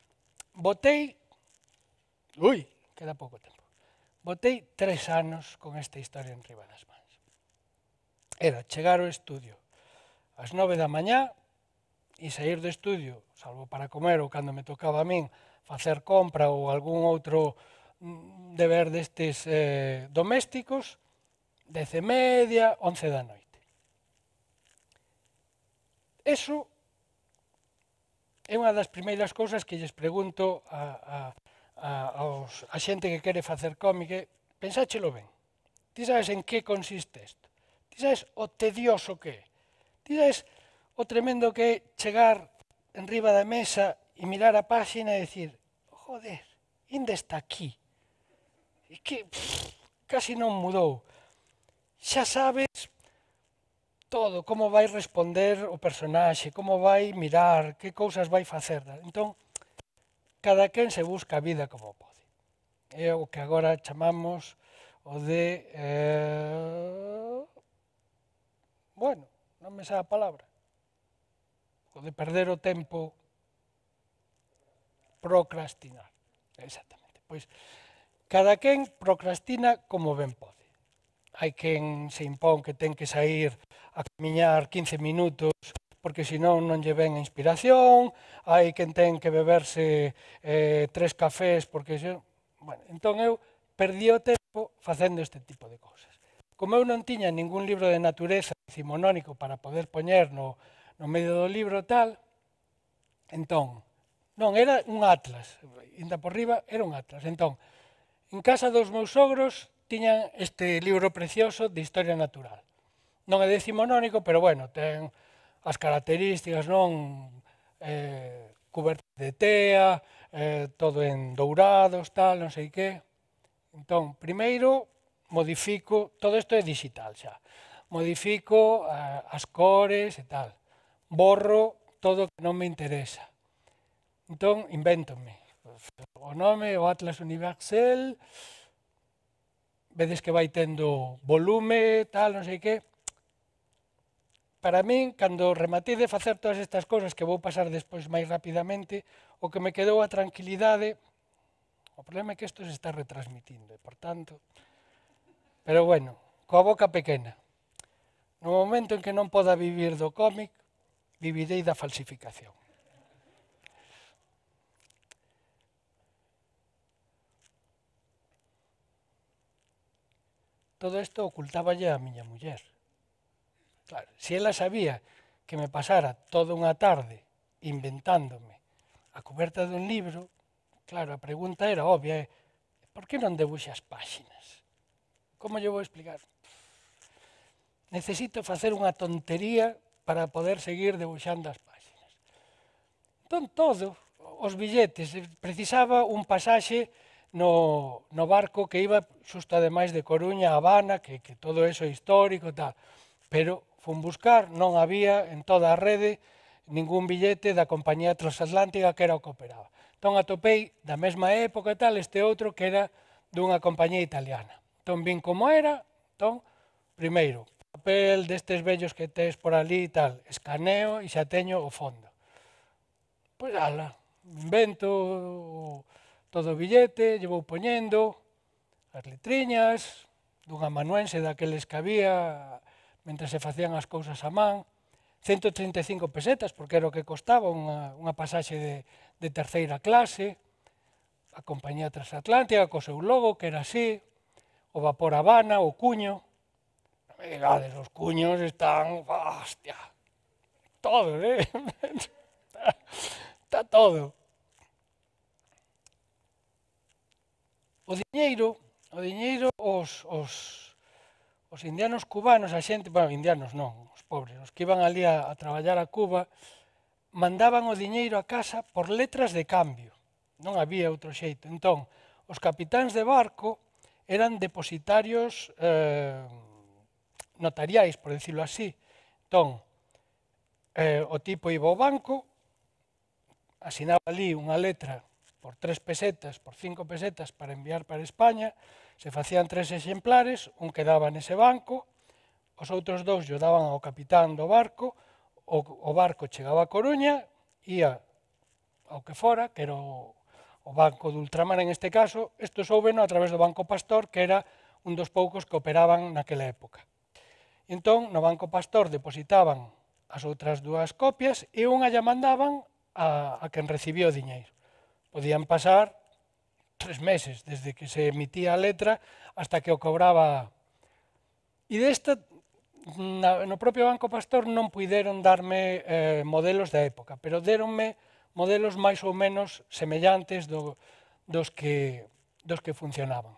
queda pouco tempo, botei 3 anos con esta historia en riba das mans. Era chegar ao estudio ás 9 da mañá e sair do estudio, salvo para comer ou cando me tocaba a min facer compra ou algún outro deber destes domésticos, 10:30, 11 da noite. Eso é unha das primeiras cousas que lles pregunto a xente que quere facer cómic. Pensáchelo ben. Ti sabes en que consiste isto? Ti sabes o tedioso que é? Ti sabes o tremendo que é chegar en riba da mesa e mirar a páxina e dicir, joder, ainda está aquí. E que casi non mudou. Xa sabes todo, como vai responder o personaxe, como vai mirar, que cousas vai facer. Entón, cada quen se busca a vida como pode. É o que agora chamamos o de... bueno, non me sabe a palabra. O de perder o tempo, procrastinar. Exactamente. Pois, cada quen procrastina como ben pode. Hai quen se impón que ten que sair a camiñar 15 minutos porque senón non lle ven a inspiración, hai quen ten que beberse 3 cafés porque... Bueno, entón eu perdí o tempo facendo este tipo de cousas. Como eu non tiña ningún libro de natureza decimonónico para poder poñer no medio do libro tal, entón, non, era un atlas, inda por riba era un atlas. Entón, en casa dos meus sogros tiñan este libro precioso de Historia Natural. Non é decimonónico, pero bueno, ten as características, non? Cuberto de tea, todo en dourados, tal, non sei que. Entón, primeiro, modifico, todo isto é digital xa, modifico as cores e tal, borro todo o que non me interesa. Entón, invéntome o nome, o Atlas Universel, vedes que vai tendo volume, tal, non sei que. Para min, cando rematei de facer todas estas cousas que vou pasar despois máis rapidamente, o que me quedou a tranquilidade, o problema é que isto se está retransmitindo, e por tanto... Pero bueno, coa boca pequena. No momento en que non poda vivir do cómic, vivirei da falsificación. Todo isto ocultáballe a miña muller. Claro, se ela sabía que me pasara toda unha tarde inventándome a coberta dun libro, claro, a pregunta era obvia, por que non debuxas páxinas? Como lle vou explicar? Necesito facer unha tontería para poder seguir debuxando as páxinas. Entón, todo, os billetes, precisaba un pasaxe no barco que iba xusto ademais de Coruña a Habana, que todo eso é histórico e tal, pero fun buscar, non había en toda a rede ningún billete da compañía transatlántica que era o que operaba. Entón atopei da mesma época e tal este outro que era dunha compañía italiana. Entón vin como era, entón, primeiro, papel destes vellos que tes por ali e tal, escaneo e xa teño o fondo. Pois ala, invento todo o billete, lle vou poñendo as letriñas, dun amanuense daqueles que había mentre se facían as cousas a man, 135 pesetas, porque era o que costaba unha pasaxe de terceira clase, a compañía transatlántica co seu logo, que era así, o vapor Habana, o cuño. Non me digades, os cuños están, hostia, todos, está todo. O diñeiro, os indianos cubanos, a xente, bueno, indianos non, os pobres, os que iban ali a traballar a Cuba, mandaban o diñeiro a casa por letras de cambio. Non había outro xeito. Entón, os capitáns de barco eran depositarios notariais, por decirlo así. Entón, o tipo iba ao banco, asinaba ali unha letra por 3 pesetas, por 5 pesetas para enviar para España, se facían 3 exemplares, un quedaba nese banco, os outros 2 lle daban ao capitán do barco, o barco chegaba a Coruña, ia ao que fora, que era o banco de ultramar en este caso, isto soubeno a través do Banco Pastor, que era un dos poucos que operaban naquela época. Entón, no Banco Pastor depositaban as outras 2 copias e unha lla mandaban a quen recibía o diñeiro. Podían pasar 3 meses, desde que se emitía a letra hasta que o cobraba. E desta, no propio Banco Pastor non puideron darme modelos da época, pero deronme modelos máis ou menos semellantes dos que funcionaban.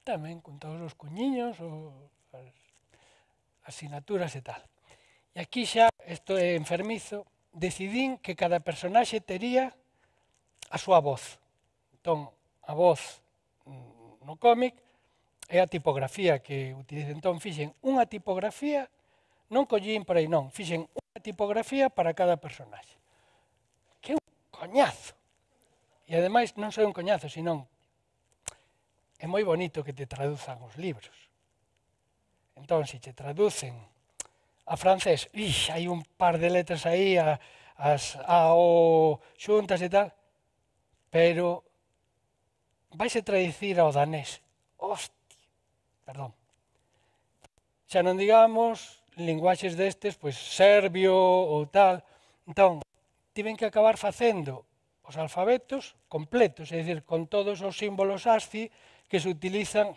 Tamén con todos os cuñiños, as asinaturas e tal. E aquí xa, isto é enfermizo, decidín que cada personaxe tería a súa voz. Entón, a voz no cómic é a tipografía que utilizo. Entón, fixen unha tipografía, non collín por aí, non, fixen unha tipografía para cada personaxe. Que é un coñazo. E ademais non só un coñazo, senón é moi bonito que te traduzan os libros. Entón, se te traducen a francés, hai un par de letras aí, as A, O, xuntas e tal, pero vaise traducir ao danés. Hostia, perdón. Xa non digamos linguaxes destes, pois serbio ou tal. Entón, tiven que acabar facendo os alfabetos completos, é dicir, con todos os símbolos ASCII que se utilizan,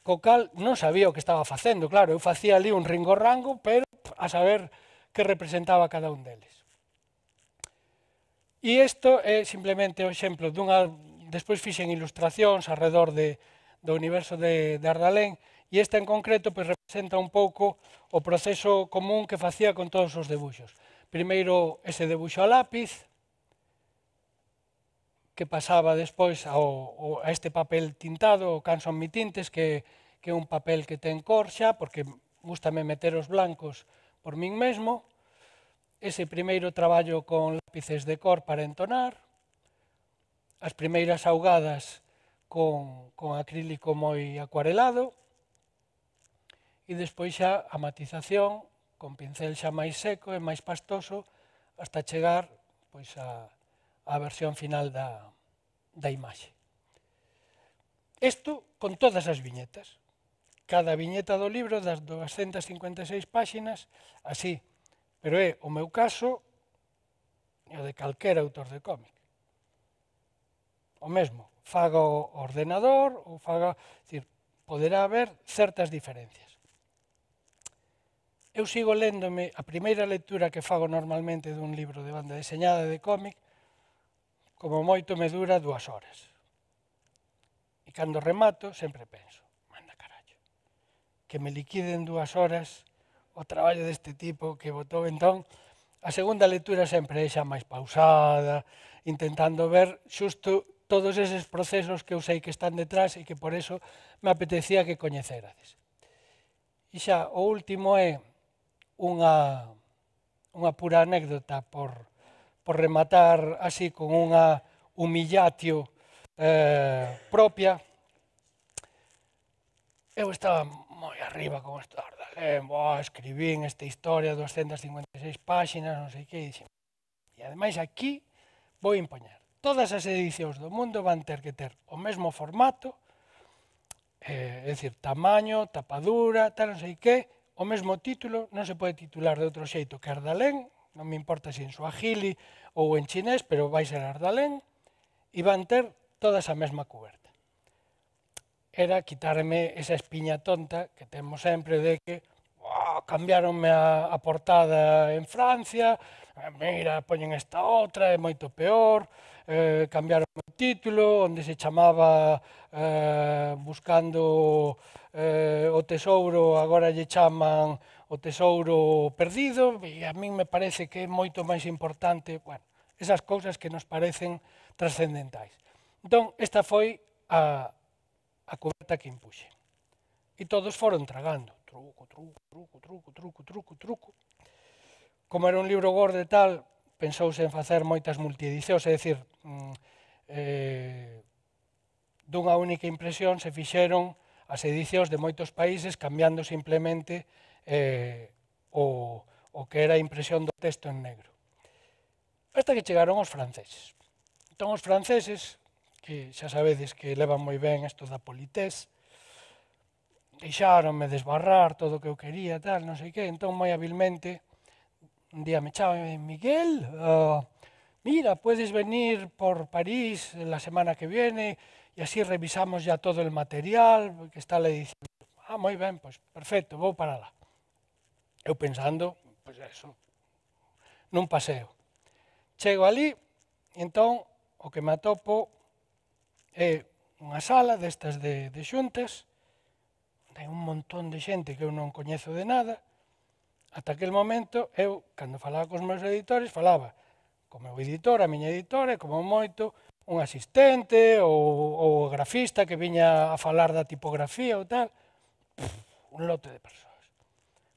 co cal non sabía o que estaba facendo, claro, eu facía ali un ringorrango, pero a saber que representaba cada un deles. E isto é simplemente o exemplo dunha, despois fixen ilustracións alrededor do universo de Ardalén, e esta en concreto pois, representa un pouco o proceso común que facía con todos os debuxos. Primeiro ese debuxo a lápiz, que pasaba despois a este papel tintado, o Canson Mi Tintes, que é un papel que ten cor xa, porque gústame meter os blancos por min mesmo. Ese primeiro traballo con lápices de cor para entonar, as primeiras augadas con acrílico moi acuarelado, e despois xa a matización con pincel xa máis seco e máis pastoso hasta chegar pois, a versión final da imaxe. Isto con todas as viñetas. Cada viñeta do libro das 256 páxinas, así. Pero é o meu caso e o de calquera autor de cómic. O mesmo, faga o ordenador ou faga... Decir, poderá haber certas diferencias. Eu sigo léndome, a primeira lectura que fago normalmente dun libro de banda deseñada de cómic, como moito me dura 2 horas. E cando remato, sempre penso, manda carallo, que me liquiden 2 horas o traballo deste tipo que botou. Entón, a segunda lectura sempre é xa máis pausada, intentando ver xusto todos eses procesos que eu sei que están detrás e que por eso me apetecía que coñecerades. E xa, o último é unha pura anécdota por rematar así con unha humillatio propia. Eu estaba moi arriba con isto de Ardalén, escribín esta historia, 256 páxinas, non sei que, e dixen, e ademais aquí vou impoñer. Todas as edicións do mundo van ter que ter o mesmo formato, é dicir, tamaño, tapadura, tal, non sei que, o mesmo título, non se pode titular de outro xeito que Ardalén, non me importa se en suajili ou en chinés, pero vai ser Ardalén, e van ter todas a mesma cuberta. Era quitarme esa espiña tonta que temos sempre de que cambiaronme a portada en Francia, mira, poñen esta outra, é moito peor, cambiaron o título, onde se chamaba Buscando o Tesouro, agora lle chaman O Tesouro Perdido, e a min me parece que é moito máis importante, bueno, esas cousas que nos parecen trascendentais. Entón, esta foi a cuberta que impuxe. E todos foron tragando. Truco, truco, truco, truco, truco, truco, truco. Como era un libro gordo e tal, pensouse en facer moitas multiedicións, é dicir, dunha única impresión se fixeron as edicións de moitos países cambiando simplemente o que era a impresión do texto en negro. Hasta que chegaron os franceses. Entón os franceses, que xa sabedes que levan moi ben isto da polités, deixáronme desbarrar todo o que eu quería, tal, non sei que, entón moi habilmente, un día me chaman, Miguel, mira, puedes venir por París la semana que viene e así revisamos ya todo el material que está la edición. Moi ben, pois perfecto, vou para lá. Eu pensando, pois eso, nun paseo. Chego ali, e entón, o que me atopo é unha sala destas de xuntas, hai un montón de xente que eu non coñezo de nada. Ata aquel momento, eu, cando falaba cos meus editores, falaba co meu editor, a miña editora, e como moito, un asistente ou o grafista que viña a falar da tipografía ou tal, un lote de persoas.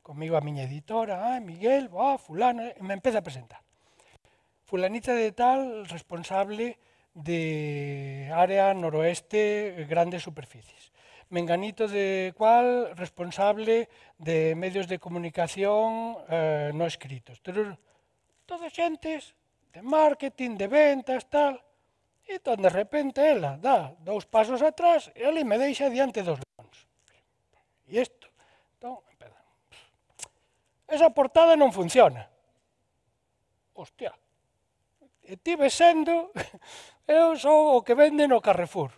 Comigo a miña editora, Miguel, fulano, e me empeza a presentar. Fulanita de tal, responsable de área noroeste, grandes superficies. Menganito de cual, responsable de medios de comunicación no escritos. Todos xentes de marketing, de ventas, tal. E entón, de repente, ela dá 2 pasos atrás e ali me deixa diante dos leóns. E isto, entón, empeza. Esa portada non funciona. Hostia, e ti ves sendo, eu sou o que vende no Carrefour.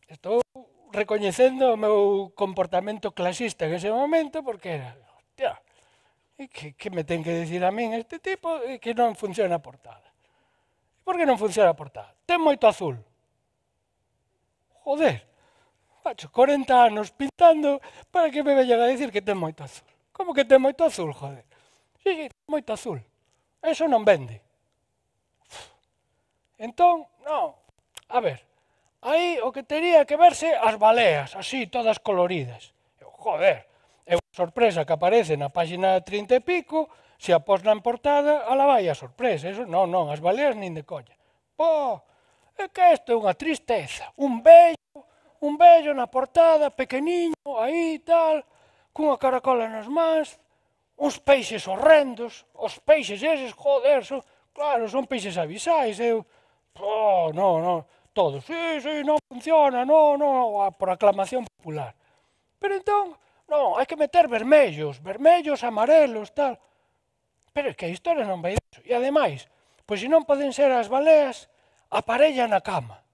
Estou recoñecendo o meu comportamento clasista en ese momento, porque era, hostia, que me ten que decir a min este tipo que non funciona a portada. Por que non funciona a portada? Ten moito azul. Joder, facho 40 anos pintando para que me veñan a decir que ten moito azul. Como que ten moito azul, joder? Sí, ten moito azul. Eso non vende. Entón, non, a ver, aí o que tería que verse as baleas, así, todas coloridas. Joder, é unha sorpresa que aparece na páxina 30 e pico, se a pos na portada, ala vai a sorpresa. Eso, non, as baleas nin de colla. Pô, é que isto é unha tristeza. Un vello na portada, pequeniño, aí tal, cunha caracola nas mans, uns peixes horrendos, os peixes eses, joder, claro, son peixes abisais, non, todos, sí, non funciona, non, por aclamación popular. Pero entón, non, hai que meter vermellos, amarelos, tal. Pero é que a historia non vai disso. E ademais, pois se non poden ser as baleas, aparella na cama.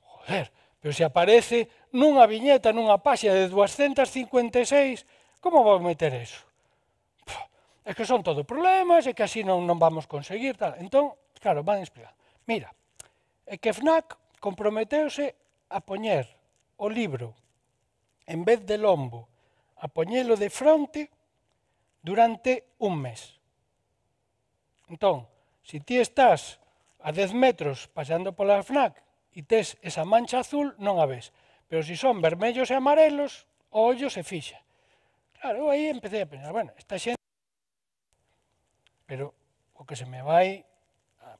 Joder, pero se aparece nunha viñeta, nunha páxina de 256, como vou meter eso? É que son todo problemas, é que así non vamos conseguir, tal. Entón, claro, van explicar. Mira, é que FNAC comprometeuse a poñer o libro, en vez de lombo, a poñelo de fronte durante un mes. Entón, se ti estás a 10 metros pasando pola FNAC e tes esa mancha azul, non a ves. Pero se son vermellos e amarelos, o ollo se fixa. Claro, aí empecé a pensar, bueno, esta xente... Pero o que se me vai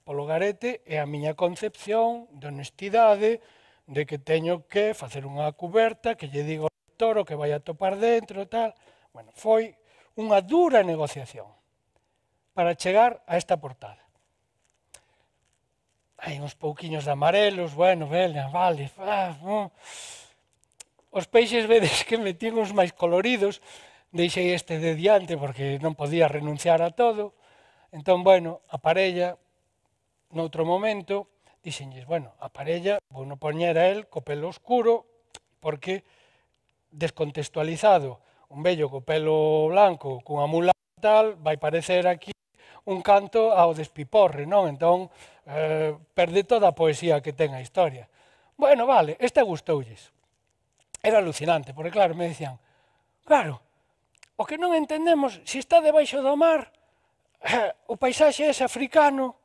polo garete é a miña concepción de honestidade, de que teño que facer unha cuberta, que lle digo ao lector o que vai a topar dentro, tal. Bueno, foi unha dura negociación para chegar a esta portada. Hai uns pouquiños de amarelos, bueno, vale, os peixes vedes que metín uns máis coloridos, deixei este de diante porque non podía renunciar a todo. Entón, bueno, a parella, noutro momento, dixenlles, bueno, a parella vou non poñer a él co pelo oscuro, porque descontextualizado, un vello co pelo blanco, cunha mula tal, vai parecer aquí un canto ao despiporre, non? Entón, perde toda a poesía que ten a historia. Bueno, vale, esta gustoulles. Era alucinante, porque claro, me decían, claro, o que non entendemos, se está debaixo do mar, o paisaxe é africano.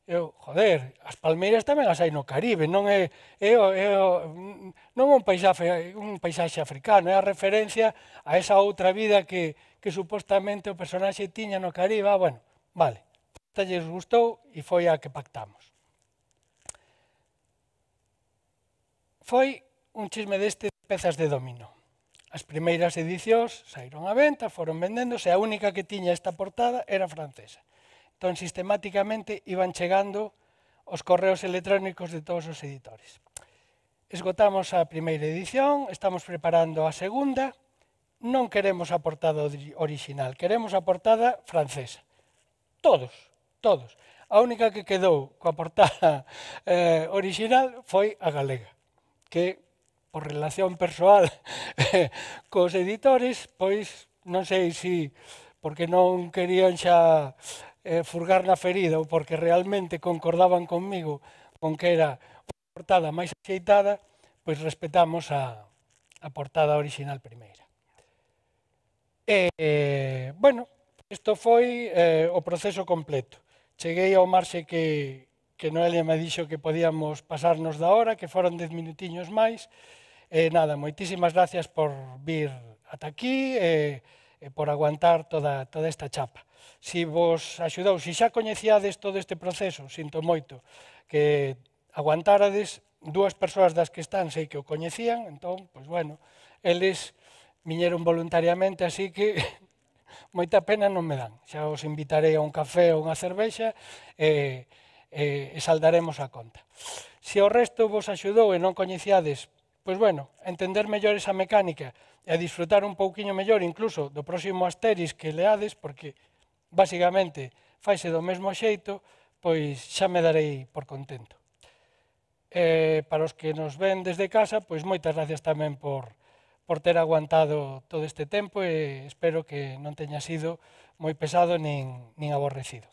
Eu, joder, as palmeiras tamén as hai no Caribe, non é un paisaxe africano, é a referencia a esa outra vida que supostamente o personaxe tiña no Caribe. Bueno, vale, esta lles gustou e foi a que pactamos. Foi un chisme deste de pezas de dominó. As primeiras edicións saíron á venta, foron vendéndose, a única que tiña esta portada era francesa. Entón, sistemáticamente iban chegando os correos electrónicos de todos os editores. Esgotamos a primeira edición, estamos preparando a segunda, non queremos a portada original, queremos a portada francesa. Todos. A única que quedou coa portada original foi a galega, que por relación persoal cos editores, pois non sei se porque non querían xa furgar na ferida ou porque realmente concordaban conmigo con que era a portada máis axeitada, pois respetamos a portada original primeira. Bueno, isto foi o proceso completo. Cheguei ao marxe que Noelia me dixo que podíamos pasarnos da hora, que foron 10 minutiños máis. Nada, moitísimas gracias por vir ata aquí e por aguantar toda esta chapa. Si vos axudou, si xa coñecíades todo este proceso, sinto moito que aguantárades, 2 persoas das que están sei que o coñecían, entón, pois bueno, eles viñeron voluntariamente, así que moita pena non me dan. Xa os invitarei a un café ou unha cervexa e saldaremos a conta. Se o resto vos axudou e non coñeciades, pois bueno, entender mellor esa mecánica e a disfrutar un pouquiño mellor incluso do próximo Asterix que leades, porque basicamente faise do mesmo xeito, pois xa me darei por contento. Para os que nos ven desde casa, pois moitas gracias tamén por ter aguantado todo este tempo e espero que non teña sido moi pesado nin aborrecido.